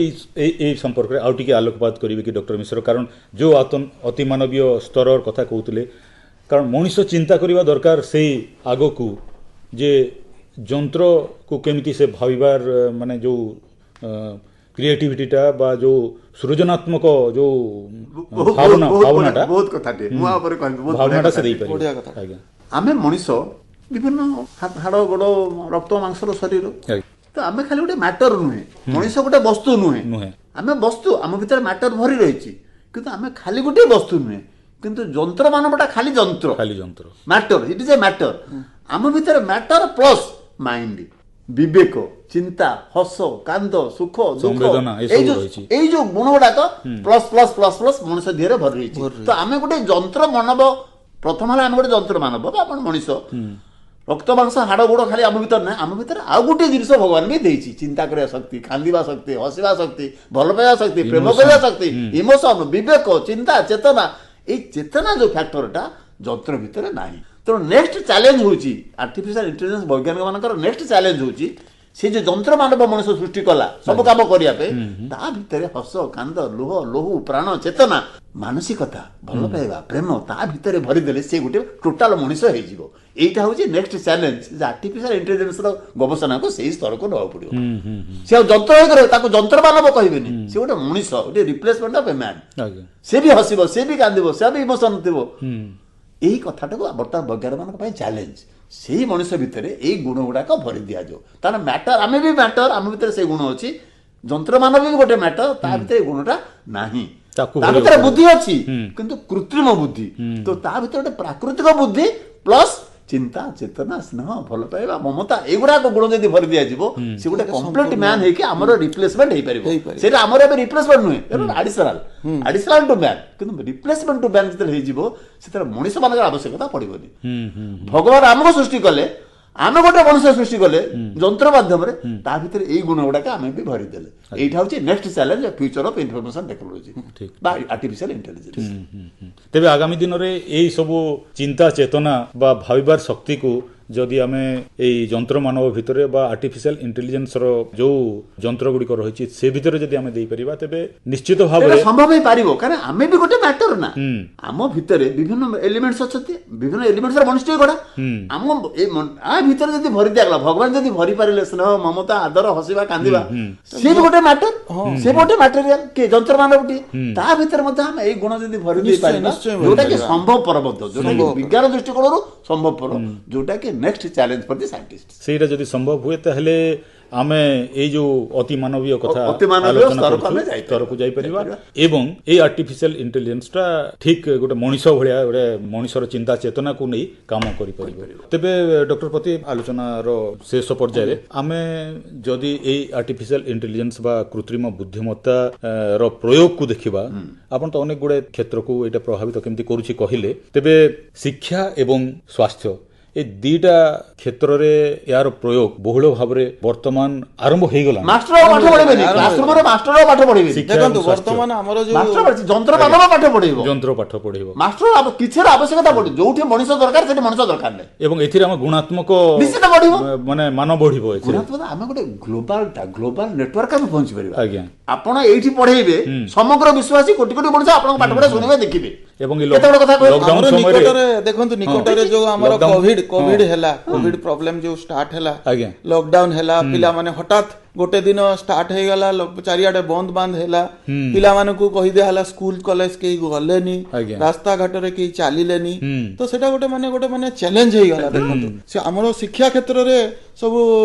ଏଇ ସମ୍ପର୍କରେ ଆଉ ଟିକେ ଆଲୋକପାତ କରିବେ କି ଡକ୍ଟର ମିଶ୍ର? କାରଣ ଯୋଉ ଅତିମାନବୀୟ ସ୍ତରର କଥା କହୁଥିଲେ, କାରଣ ମଣିଷ ଚିନ୍ତା କରିବା ଦରକାର ସେଇ ଆଗକୁ ଯେ ଯନ୍ତ୍ରକୁ କେମିତି ସେ ଭାବିବାର, ମାନେ ଯୋଉ କ୍ରିଏଟିଭିଟିଟା ବା ଯୋଉ ସୃଜନାତ୍ମକ ଯୋଉ ଭାବନା, ଭାବନାଟା, ବହୁତ କଥାଟେ ମୁଁ ଉପରେ କହିବି, ଭାବନାଟା ସେ ଦେଇପାରିବ। ଆଜ୍ଞା, ଆମେ ମଣିଷ ବିଭିନ୍ନ ହାଡ଼ ଗୋଡ଼ ରକ୍ତ ମାଂସର ଶରୀର, ତ ଆମେ ଖାଲି ଗୋଟେ ମ୍ୟାଟର ନୁହେଁ। ମଣିଷ ଗୋଟେ ବସ୍ତୁ ନୁହେଁ। ଆମେ ବସ୍ତୁ, ଆମ ଭିତରେ ମ୍ୟାଟର ଭରି ରହିଛି, କିନ୍ତୁ ଆମେ ଖାଲି ଗୋଟିଏ ବସ୍ତୁ ନୁହେଁ। କିନ୍ତୁ ଯନ୍ତ୍ର ମାନବଟା ଖାଲି ଯନ୍ତ୍ର, ଖାଲି ଯନ୍ତ୍ର, matter, it is a matter. ଆମ ଭିତରେ ମ୍ୟାଟର ପ୍ଲସ୍ ମାଇଣ୍ଡ, ବିବେକ, ଚିନ୍ତା, ହସ, କାନ୍ଦ, ସୁଖ, ଦୁଃଖ, ଏଇ ଯୋଉ ଗୁଣ ଗୁଡାକ ପ୍ଲସ୍ ପ୍ଲସ୍ ପ୍ଲସ୍ ପ୍ଲସ୍ ମଣିଷ ଦେହରେ ଭରି ରହିଛି। ତ ଆମେ ଗୋଟେ ଯନ୍ତ୍ର ମାନବ, ପ୍ରଥମ ହେଲା ଆମେ ଗୋଟେ ଯନ୍ତ୍ର ମାନବ ବା ଆପଣ ମଣିଷ, ରକ୍ତ ମାଂସ ହାଡ଼ ଗୋଡ଼ ଖାଲି ଆମ ଭିତରେ ନାହିଁ। ଆମ ଭିତରେ ଆଉ ଗୋଟିଏ ଜିନିଷ ଭଗବାନ ବି ଦେଇଛି, ଚିନ୍ତା କରିବା ଶକ୍ତି, କାନ୍ଦିବା ଶକ୍ତି, ହସିବା ଶକ୍ତି, ଭଲ ପାଇବା ଶକ୍ତି, ପ୍ରେମ କରିବା ଶକ୍ତି, ଇମୋସନ, ବିବେକ, ଚିନ୍ତା, ଚେତନା। ଏଇ ଚେତନା ଯୋଉ ଫ୍ୟାକ୍ଟରଟା ଯନ୍ତ୍ର ଭିତରେ ନାହିଁ। ତେଣୁ ନେକ୍ସଟ ଚ୍ୟାଲେଞ୍ଜ ହେଉଛି ଆର୍ଟିଫିସିଆଲ ଇଣ୍ଟେଲିଜେନ୍ସ ବୈଜ୍ଞାନିକ ମାନଙ୍କର ନେକ୍ସଟ ଚ୍ୟାଲେଞ୍ଜ ହେଉଛି, ସେ ଯୋଉ ଯନ୍ତ୍ର ମାନବ ମଣିଷ ସୃଷ୍ଟି କଲା ସବୁ କାମ କରିବା ପାଇଁ, ତା ଭିତରେ ହସ, କାନ୍ଦ, ଲୁହ, ଲହୁ, ପ୍ରାଣ, ଚେତନା, ମାନସିକତା, ଭଲ ପାଇବା, ପ୍ରେମ ତା ଭିତରେ ଭରିଦେଲେ ସେ ଗୋଟେ ଟୋଟାଲ ମଣିଷ ହେଇଯିବ। ଏଇଟା ହେଉଛି ନେକ୍ସଟ ଚ୍ୟାଲେଞ୍ଜ ଯେ ଆର୍ଟିଫିସିଆଲ ଇଣ୍ଟେଲିଜେନ୍ସର ଗବେଷଣାକୁ ସେଇ ସ୍ତରକୁ ନେବାକୁ ପଡିବ। ସେ ଆଉ ଯନ୍ତ୍ର ହେଇକରି ତାକୁ ଯନ୍ତ୍ର ମାନବ କହିବେନି, ସେ ଗୋଟେ ମଣିଷ, ଗୋଟେ ରିପ୍ଲେସମେଣ୍ଟ ଅଫ ଏ ମ୍ୟାନ୍। ସେ ବି ହସିବ, ସେ ବି କାନ୍ଦିବ, ସେ ବି ଇମୋସନ ଥିବ। ଏଇ କଥାଟାକୁ ବର୍ତ୍ତମାନ ବୈଜ୍ଞାନିକମାନଙ୍କ ପାଇଁ ଚ୍ୟାଲେଞ୍ଜ, ସେଇ ମଣିଷ ଭିତରେ ଏଇ ଗୁଣ ଗୁଡାକ ଭରି ଦିଆଯାଉ। ତାର ମ୍ୟାଟର, ଆମେ ବି ମ୍ୟାଟର, ଆମ ଭିତରେ ସେଇ ଗୁଣ ଅଛି। ଯନ୍ତ୍ର ମାନବ ବି ଗୋଟେ ମ୍ୟାଟର, ତା ଭିତରେ ଏଇ ଗୁଣଟା ନାହିଁ। ତା ଭିତରେ ବୁଦ୍ଧି ଅଛି, କିନ୍ତୁ କୃତ୍ରିମ ବୁଦ୍ଧି। ତ ତା ଭିତରେ ଗୋଟେ ପ୍ରାକୃତିକ ବୁଦ୍ଧି ପ୍ଲସ୍ ଚିନ୍ତା, ଚେତନା, ସ୍ନେହ, ଭଲ ପାଇବା, ମମତା, ଏଗୁଡାକ ଗୁଣ ଯଦି ଭରି ଦିଆଯିବ, ସେ ଗୋଟେ କମ୍ପ୍ଲିଟ ମ୍ୟାନ୍ ହେଇକି ଆମର ରିପ୍ଲେସମେଣ୍ଟ ହେଇପାରିବ। ସେଇଟା ଆମର ଏବେ ରିପ୍ଲେସମେଣ୍ଟ ନୁହେଁ, ଆଡିସନାଲ ଟୁ ମ୍ୟାନ୍। କିନ୍ତୁ ରିପ୍ଲେସମେଣ୍ଟ ଟୁ ମ୍ୟାନ୍ ଯେତେବେଳେ ହେଇଯିବ, ସେତେବେଳେ ମଣିଷ ମାନଙ୍କର ଆବଶ୍ୟକତା ପଡିବନି। ଭଗବାନ ଆମକୁ ସୃଷ୍ଟି କଲେ, ଆମେ ଗୋଟେ ମଣିଷ ସୃଷ୍ଟି କଲେ ଯନ୍ତ୍ର ମାଧ୍ୟମରେ, ତା ଭିତରେ ଏଇ ଗୁଣ ଗୁଡାକ ଆମେ ବି ଭରିଦେଲେ। ଏଇଟା ହଉଛି next challenge, future of information technology ବା ଆର୍ଟିଫିସିଆଲ ଇଣ୍ଟେଲିଜେନ୍ସ। ତେବେ ଆଗାମୀ ଦିନରେ ଏଇ ସବୁ ଚିନ୍ତା, ଚେତନା ବା ଭାବିବାର ଶକ୍ତିକୁ ଯଦି ଆମେ ଏଇ ଯନ୍ତ୍ର ମାନବ ଭିତରେ ବା ଆର୍ଟିଫିସିଆଲ ଇଣ୍ଟେଲିଜେନ୍ସର ଯୋଉ ଯନ୍ତ୍ର ଗୁଡ଼ିକ ରହିଛି ସେ ଭିତରେ ଯଦି ଆମେ ଦେଇପାରିବା, ତେବେ ନିଶ୍ଚିତ ଭାବରେ ସମ୍ଭବ ହେଇପାରିବ। କାରଣ ଆମେ ବି ଗୋଟେ ମ୍ୟାଟର ନା, ଆମ ଭିତରେ ବିଭିନ୍ନ ଏଲିମେଣ୍ଟସ ଅଛନ୍ତି, ବିଭିନ୍ନ ଏଲିମେଣ୍ଟସର ମଣିଷଟିଏ ଗଢା। ଆମ ଆ ଭିତରେ ଯଦି ଭରି ଦିଆଗଲା, ଭଗବାନ ଯଦି ଭରି ପାରିଲେ ସ୍ନେହ, ମମତା, ଆଦର, ହସିବା, କାନ୍ଦିବା, ସିଏ ବି ଗୋଟେ ମ୍ୟାଟର, ସେ ଗୋଟେ ମ୍ୟାଟେରିଆଲ କି ଯନ୍ତ୍ର ମାନବଟିଏ, ତା ଭିତରେ ମଧ୍ୟ ଆମେ ଏଇ ଗୁଣ ଯଦି ଭରି ଦେଇପାରିବା, ଯୋଉଟା କି ସମ୍ଭବପର ମଧ୍ୟ, ଯୋଉଟା କି ବିଜ୍ଞାନ ଦୃଷ୍ଟିକୋଣରୁ ସମ୍ଭବପର, ଯୋଉଟା କି next challenge for the scientist. ସେଇଟା ଯଦି ସମ୍ଭବ ହୁଏ, ତାହେଲେ ଆମେ ଏଇ ଯୋଉ ଅତିମାନବୀୟ କଥା ଅତିମାନବୀୟ ଆଲୋଚନା ସ୍ତରକୁ କରୁଛୁ, ଆମେ ଯାଇପାରିବା। ସ୍ତରକୁ ଯାଇପାରିବା ଏବଂ ଏଇ ଆର୍ଟିଫିସିଆଲ ଇଣ୍ଟେଲିଜେନ୍ସଟା ଠିକ ଗୋଟେ ମଣିଷ ଭଳିଆ, ଗୋଟେ ମଣିଷର ଚିନ୍ତା ଚେତନାକୁ ନେଇ କାମ କରିପାରିବ। ତେବେ ଡକ୍ଟର ପତି, ଆଲୋଚନାର ଶେଷ ପର୍ଯ୍ୟାୟରେ ଆମେ ଯଦି ଏଇ ଆର୍ଟିଫିସିଆଲ ଇଣ୍ଟେଲିଜେନ୍ସ ବା କୃତ୍ରିମ ବୁଦ୍ଧିମତ୍ତା ର ପ୍ରୟୋଗକୁ ଦେଖିବା, ଆପଣ ତ ଅନେକ ଗୁଡ଼େ କ୍ଷେତ୍ରକୁ ଏଇଟା ପ୍ରଭାବିତ କେମିତି କରୁଛି କହିଲେ, ତେବେ ଶିକ୍ଷା ଏବଂ ସ୍ୱାସ୍ଥ୍ୟ ଏ ଦିଟା କ୍ଷେତ୍ରରେ ଏହାର ପ୍ରୟୋଗ ବହୁଳ ଭାବରେ ବର୍ତ୍ତମାନ ଆରମ୍ଭ ହେଇଗଲାଣି। ମାଷ୍ଟର ଆଉ ପାଠ ପଢେଇବେନି, କ୍ଲାସରୁମରେ ମାଷ୍ଟର ଆଉ ପାଠ ପଢେଇବେନି। ଶିକ୍ଷା ଦେଖନ୍ତୁ, ଏବଂ ସ୍ୱାସ୍ଥ୍ୟ। ବର୍ତ୍ତମାନ ଆମର ଯୋଉ ମାଷ୍ଟର ପଢେଇଛି, ଯନ୍ତ୍ର ମାନବ ପାଠ ପଢେଇବ, ଯନ୍ତ୍ର ପାଠ ପଢେଇବ। ମାଷ୍ଟର କିଛିର ଆବଶ୍ୟକତା ପଡୁନି। ଯୋଉଠି ମଣିଷ ଦରକାର ସେଠି ମଣିଷ ଦରକାର ନାହିଁ। ଏବଂ ଏଥିରେ ଆମ ଗୁଣାତ୍ମକ ନିଶ୍ଚିତ ବଢିବ। ମାନେ ମାନ ବଢିବ ଏଥିରେ। ଗୁଣାତ୍ମକ, ଆମେ ଗୋଟେ ଗ୍ଲୋବାଲ ଗ୍ଲୋବାଲ ନେଟୱାର୍କ ଆମେ ପହଞ୍ଚି ପାରିବା। ଆପଣ ଏଇଠି ପଢେଇବେ, ସମଗ୍ର ବିଶ୍ୱାସୀ କୋଟି କୋଟି ମଣିଷ ଆପଣଙ୍କ ପାଠ ପଢା ଶୁଣିବେ, ଦେଖିବେ। ଏବଂ ଏଇ କେତେ ବଡ କଥା କହିଲେ? ଲକଡାଉନ ଆମର ସମୟରେ ନିକଟରେ ଦେଖନ୍ତୁ, ନିକଟରେ ଯୋଉ ଆମର ଲକଡାଉନ- କୋଭିଡ କୋଭିଡ ହେଲା, କୋଭିଡ ପ୍ରୋବ୍ଲେମ ଯୋଉ ଷ୍ଟାର୍ଟ ହେଲା, ଲକଡାଉନ ହେଲା, ପିଲାମାନେ ହଠାତ୍ ଗୋଟେ ଦିନ ଷ୍ଟାର୍ଟ ହେଇଗଲା, ଚାରିଆଡେ ବନ୍ଦ ବାନ୍ଦ ହେଲା, ପିଲାମାନଙ୍କୁ କହିଦିଆ ହେଲା ସ୍କୁଲ କଲେଜ କେହି ଗଲେନି, ରାସ୍ତାଘାଟରେ କେହି ଚାଲିଲେନି। ତ ସେଟା ଗୋଟେ ମାନେ ଗୋଟେ ମାନେ ଚ୍ୟାଲେଞ୍ଜ ହେଇଗଲା। ଦେଖନ୍ତୁ, ସେ ଆମର ଶିକ୍ଷା କ୍ଷେତ୍ରରେ ସବୁ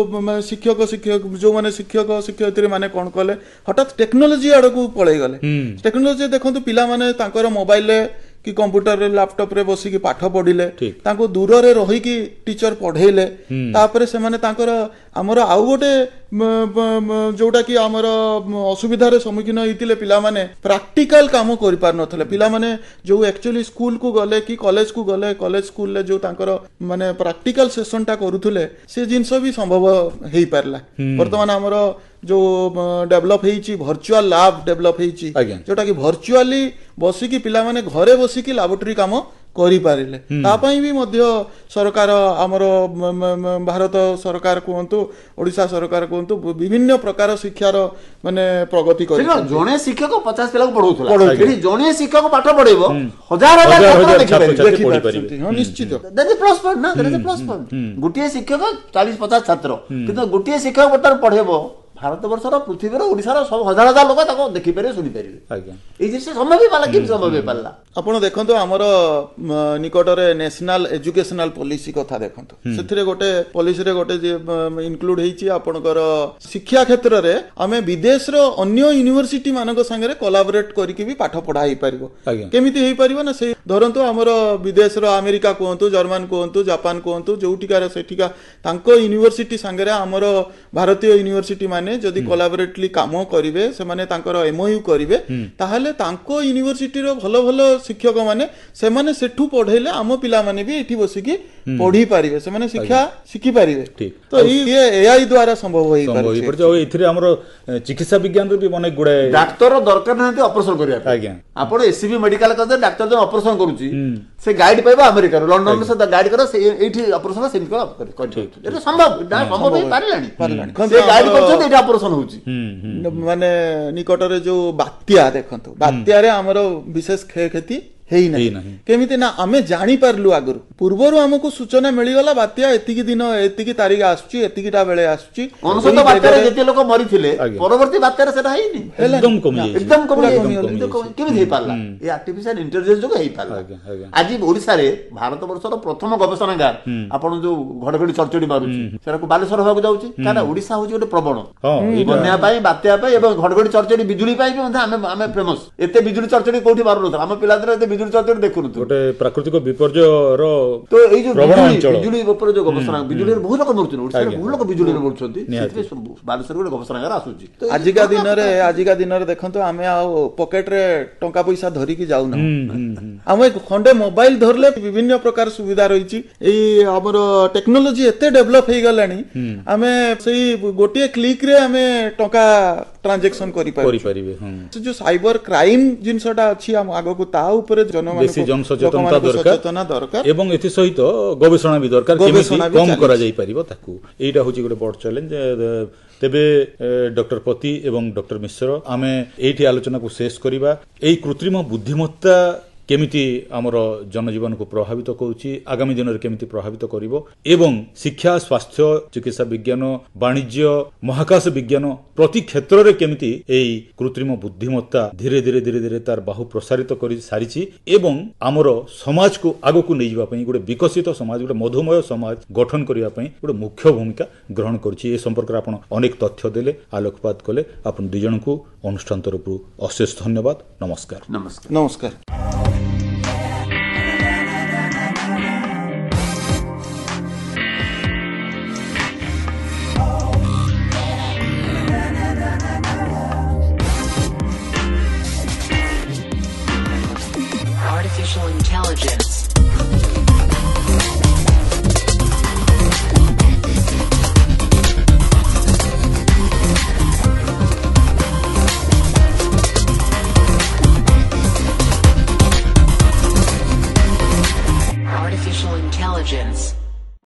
ମାନେ ଶିକ୍ଷକ ଶିକ୍ଷକ ଯୋଉମାନେ ଶିକ୍ଷକ ଶିକ୍ଷୟିତ୍ରୀ ମାନେ କଣ କଲେ, ହଠାତ୍ ଟେକ୍ନୋଲୋଜି ଆଡକୁ ପଳେଇ ଗଲେ। ଟେକ୍ନୋଲୋଜି ଦେଖନ୍ତୁ, ପିଲାମାନେ ତାଙ୍କର ମୋବାଇଲରେ କି କମ୍ପ୍ୟୁଟରରେ ଲାପଟପରେ ବସିକି ପାଠ ପଢିଲେ, ତାଙ୍କୁ ଦୂରରେ ରହିକି ଟିଚର ପଢେଇଲେ। ତାପରେ ସେମାନେ ତାଙ୍କର ଆମର ଆଉ ଗୋଟେ ଯୋଉଟା କି ଆମର ଅସୁବିଧାରେ ସମ୍ମୁଖୀନ ହେଇଥିଲେ, ପିଲାମାନେ ପ୍ରାକ୍ଟିକାଲ କାମ କରିପାରୁନଥିଲେ। ପିଲାମାନେ ଯୋଉ ଆକ୍ଚୁଆଲି ସ୍କୁଲକୁ ଗଲେ କି କଲେଜକୁ ଗଲେ, କଲେଜ ସ୍କୁଲରେ ଯୋଉ ତାଙ୍କର ମାନେ ପ୍ରାକ୍ଟିକାଲ ସେସନଟା କରୁଥିଲେ, ସେ ଜିନିଷ ବି ସମ୍ଭବ ହେଇପାରିଲା। ବର୍ତ୍ତମାନ ଆମର ଯୋଉ ଡେଭଲପ ହେଇଛି, ଭର୍ଚୁଆଲ ଲାବ୍ ଡେଭଲପ ହେଇଛି, ଯୋଉଟା କି ଭର୍ଚୁଆଲି ବସିକି ପିଲାମାନେ ଘରେ ବସିକି ଲାବୋରେଟୋରୀ କାମ କରିପାରିଲେ। ତା ପାଇଁ ବି ମଧ୍ୟ ସରକାର, ଆମର ଭାରତ ସରକାର କୁହନ୍ତୁ, ଓଡ଼ିଶା ସରକାର କୁହନ୍ତୁ, ବିଭିନ୍ନ ପ୍ରକାର ଶିକ୍ଷାର ମାନେ ପ୍ରଗତି ସେଠି କଣ କରିଛନ୍ତି। ଜଣେ ଶିକ୍ଷକ 50 ପିଲାକୁ ପଢଉଥିଲା, ପଢଉଥିଲା। ଏଠି ଜଣେ ଶିକ୍ଷକ ପାଠ ପଢେଇବ, ହଜାର ହଜାର ହଜାର ଛାତ୍ର ହଜାର ଦେଖିପାରିବେ। ଛାତ୍ରଛାତ୍ରୀ ପଢିପାରିବେ। ଦେଖିପାରୁଛନ୍ତି। ହଁ, ନିଶ୍ଚିତ। That is plus point ନା, that is a plus point। ଗୋଟିଏ ଶିକ୍ଷକ 40-50 ଛାତ୍ର, କିନ୍ତୁ ଗୋଟିଏ ଶିକ୍ଷକ ବର୍ତ୍ତମାନ ପଢେଇବ, ଭାରତ ବର୍ଷର, ପୃଥିବୀର, ଓଡ଼ିଶାର ସବୁ ହଜାର ହଜାର ଲୋକ ତାକୁ ଦେଖିପାରିବେ, ଶୁଣିପାରିବେ। ଏଇ ଜିନିଷ ସମ୍ଭବ ହେଇପାରିଲା। କେମିତି ସମ୍ଭବ ହେଇପାରିଲା? ଆପଣ ଦେଖନ୍ତୁ, ଆମର ନିକଟରେ ନ୍ୟାସନାଲ ଏଜୁକେସନାଲ ପଲିସି କଥା ଦେଖନ୍ତୁ, ସେଥିରେ ଗୋଟେ ପଲିସିରେ ଗୋଟେ ଇନକ୍ଲୁଡ ହେଇଛି ଆପଣଙ୍କର ଶିକ୍ଷା କ୍ଷେତ୍ରରେ ଆମେ ବିଦେଶର ଅନ୍ୟ ୟୁନିଭର୍ସିଟି ମାନଙ୍କ ସାଙ୍ଗରେ କୋଲାବରେଟ କରିକି ବି ପାଠ ପଢା ହେଇପାରିବ। କେମିତି ହେଇପାରିବ ନା, ସେଇ ଧରନ୍ତୁ ଆମର ବିଦେଶର ଆମେରିକା କୁହନ୍ତୁ, ଜର୍ମାନ କୁହନ୍ତୁ, ଜାପାନ କୁହନ୍ତୁ, ଯୋଉଠିକାର ସେଠିକା ତାଙ୍କ ୟୁନିଭର୍ସିଟି ସାଙ୍ଗରେ ଆମର ଭାରତୀୟ ୟୁନିଭର୍ସିଟି ମାନେ ଯଦି କୋଲାବରେଟଲି କାମ କରିବେ, ସେମାନେ ତାଙ୍କର ଏମଓୟୁ କରିବେ, ତାହେଲେ ତାଙ୍କ ୟୁନିଭର୍ସିଟିର ଭଲ ଭଲ ଶିକ୍ଷକ ମାନେ ସେମାନେ ସେଠୁ ପଢେଇଲେ ଆମ ପିଲାମାନେ ବି ଏଠି ବସିକି ପଢି ପାରିବେ, ସେମାନେ ଶିକ୍ଷା ଶିଖିପାରିବେ। ତ ଏଇ ଏଆଇ ଦ୍ୱାରା ସମ୍ଭବ ସମ୍ଭବ ହେଇପାରୁଛି। ହେଇପାରୁଛି। ଆଉ ଏଥିରେ ଆମର ଚିକିତ୍ସା ବିଜ୍ଞାନରେ ବି ଅନେକ ଗୁଡ଼ାଏ ଡାକ୍ତର ଦରକାର ନାହାନ୍ତି ଅପରେସନ କରିବା ପାଇଁ। ଆପଣ ଏସସିବି ମେଡିକାଲ କରିଦେଲେ, ଡାକ୍ତର ଜଣେ ଅପରେସନ କରୁଛି, ସେ ଗାଇଡ ପାଇବ ଆମେରିକାରୁ, ଲଣ୍ଡନରୁ, ସେ ଗାଇଡ କର, ସେ ଏଇଠି ଅପରେସନ ସେମିତି କର, କରିପାରିବ। ଏଇଟା ସମ୍ଭବ ନା, ସମ୍ଭବ ହେଇପାରିଲାଣି। ପାରିଲାଣି। ସେ ଗାଇଡ କରୁଛନ୍ତି, ଏଇଠି ଅପରେସନ ହଉଛି। ମାନେ ନିକଟରେ ଯୋଉ ବାତ୍ୟା ଦେଖନ୍ତୁ, ବାତ୍ୟାରେ ଆମର ବିଶେଷ କ୍ଷୟକ୍ଷତି ହେଇନାହିଁ। ହେଇନାହିଁ। କେମିତି ନା ଆମେ ଜାଣିପାରିଲୁ ଆଗରୁ, ପୂର୍ବରୁ ଆମକୁ ସୂଚନା ମିଳିଗଲା ବାତ୍ୟା ଏତିକି ଦିନ ଏତିକି ତାରିଖ ଆସୁଛି, ଏତିକିଟା ବେଳେ ଆସୁଛି। 99 ଏଇ ବାତ୍ୟାରେ ଜାଗାରେ ଯେତେ ଲୋକ ମରିଥିଲେ, ପରବର୍ତ୍ତୀ ବାତ୍ୟାରେ ସେଟା ହେଇନି, ଏକଦମ କମି ଯାଇଛି। ଏକଦମ କମି ପୁରା ଯାଇଛି। କମିଗଲା। ଏକଦମ କେମିତି ହେଇପାରିଲା? ଏ ଆର୍ଟିଫିସିଆଲ ଇଣ୍ଟେଲିଜେନ୍ସ ଯୋଗୁଁ ହେଇପାରିଲା। ଆଜ୍ଞା ଆଜ୍ଞା ଆଜି ଓଡିଶାରେ ଭାରତ ବର୍ଷର ପ୍ରଥମ ଗବେଷଣାଗାର, ଆପଣ ଯୋଉ ଘଡଘଡି ଚଡଚଡି ମାରୁଛି, ସେଟାକୁ ବାଲେଶ୍ୱର ହେବାକୁ ଯାଉଛି। କାରଣ ଓଡିଶା ହଉଛି ଗୋଟେ ପ୍ରବଣ ଏଇଟା ବନ୍ୟା ପାଇଁ, ବାତ୍ୟା ପାଇଁ ଏବଂ ଘଡଘଡି ଚଡଚଡି ବିଜୁଳି ପାଇଁ ବି ମଧ୍ୟ ଆମେ ଫେମସ। ଏତେ ବିଜୁଳି ଚଡଚଡି କୋଉଠି ମାରୁନଥିଲା, ଆମ ପିଲାଦିନେ ଏତେ ବିଜୁଳି ଚଡଚଡି ଦେଖୁନଥିଲୁ। ଗୋଟେ ପ୍ରାକୃତିକ ବିପର୍ଯ୍ୟୟର ତ ଏଇ ଯୋଉ ପ୍ରବଣ ବିଜୁଳି ଅଞ୍ଚଳ। ବିଜୁଳି ଉପରେ ଯୋଉ ଗବେଷଣା, ବିଜୁଳିରେ ବହୁତ ଲୋକ ମରୁଛନ୍ତି ଓଡିଶାରେ, ବହୁତ ଲୋକ ବିଜୁଳିରେ ମରୁଛନ୍ତି। ନିହାତି। ସେଥିପାଇଁ ବାଲେଶ୍ୱର ଗୋଟେ ଗବେଷଣାଗାର ଆସୁଛି। ତ ଏଇ ଆଜିକା ଦିନରେ, ଆଜିକା ଦିନରେ ଦେଖନ୍ତୁ, ଆମେ ଆଉ ପକେଟରେ ଟଙ୍କା ପଇସା ଧରିକି ଯାଉନାହୁଁ। ଆମେ ଖଣ୍ଡେ ମୋବାଇଲ ଧରିଲେ ବିଭିନ୍ନ ପ୍ରକାର ସୁବିଧା ରହିଛି। ଏଇ ଆମର ଟେକ୍ନୋଲୋଜି ଏତେ ଡେଭଲପ ହେଇଗଲାଣି, ଆମେ ସେଇ ଗୋଟିଏ କ୍ଲିକ ରେ ଆମେ ଟଙ୍କା ଟ୍ରାଞ୍ଜାକ୍ସନ କରିପାରୁଛୁ। କରିପାରିବେ, ହଁ। ସେ ଯୋଉ ସାଇବର କ୍ରାଇମ ଜିନିଷଟା ଅଛି ଆମ ଆଗକୁ, ତା ଉପରେ ବେଶୀ ଜନମାନଙ୍କୁ ଜନସଚେତନତା ଲୋକମାନଙ୍କୁ ଦରକାର ସଚେତନା ଦରକାର ଏବଂ ଏଥିସହିତ ଗବେଷଣା ବି ଦରକାର, କେମିତି ଗବେଷଣା ବି କମ ଚାଲିଛି। କରାଯାଇ ପାରିବ ତାକୁ। ଏଇଟା ହଉଛି ଗୋଟେ ବଡ ଚ୍ୟାଲେଞ୍ଜ। ତେବେ ଡକ୍ଟର ପତି ଏବଂ ଡକ୍ଟର ମିଶ୍ର, ଆମେ ଏଇଠି ଆଲୋଚନାକୁ ଶେଷ କରିବା। ଏଇ କୃତ୍ରିମ ବୁଦ୍ଧିମତ୍ତା କେମିତି ଆମର ଜନଜୀବନକୁ ପ୍ରଭାବିତ କରୁଛି, ଆଗାମୀ ଦିନରେ କେମିତି ପ୍ରଭାବିତ କରିବ ଏବଂ ଶିକ୍ଷା, ସ୍ୱାସ୍ଥ୍ୟ, ଚିକିତ୍ସା ବିଜ୍ଞାନ, ବାଣିଜ୍ୟ, ମହାକାଶ ବିଜ୍ଞାନ ପ୍ରତି କ୍ଷେତ୍ରରେ କେମିତି ଏହି କୃତ୍ରିମ ବୁଦ୍ଧିମତ୍ତା ଧୀରେ ଧୀରେ ଧୀରେ ଧୀରେ ତାର ବାହୁ ପ୍ରସାରିତ କରି ସାରିଛି ଏବଂ ଆମର ସମାଜକୁ ଆଗକୁ ନେଇଯିବା ପାଇଁ, ଗୋଟେ ବିକଶିତ ସମାଜ, ଗୋଟେ ମଧୁମୟ ସମାଜ ଗଠନ କରିବା ପାଇଁ ଗୋଟେ ମୁଖ୍ୟ ଭୂମିକା ଗ୍ରହଣ କରୁଛି, ଏ ସମ୍ପର୍କରେ ଆପଣ ଅନେକ ତଥ୍ୟ ଦେଲେ, ଆଲୋକପାତ କଲେ। ଆପଣ ଦୁଇ ଜଣଙ୍କୁ ଅନୁଷ୍ଠାନ ତରଫରୁ ଅଶେଷ ଧନ୍ୟବାଦ। ନମସ୍କାର। ନମସ୍କାର। ନମସ୍କାର।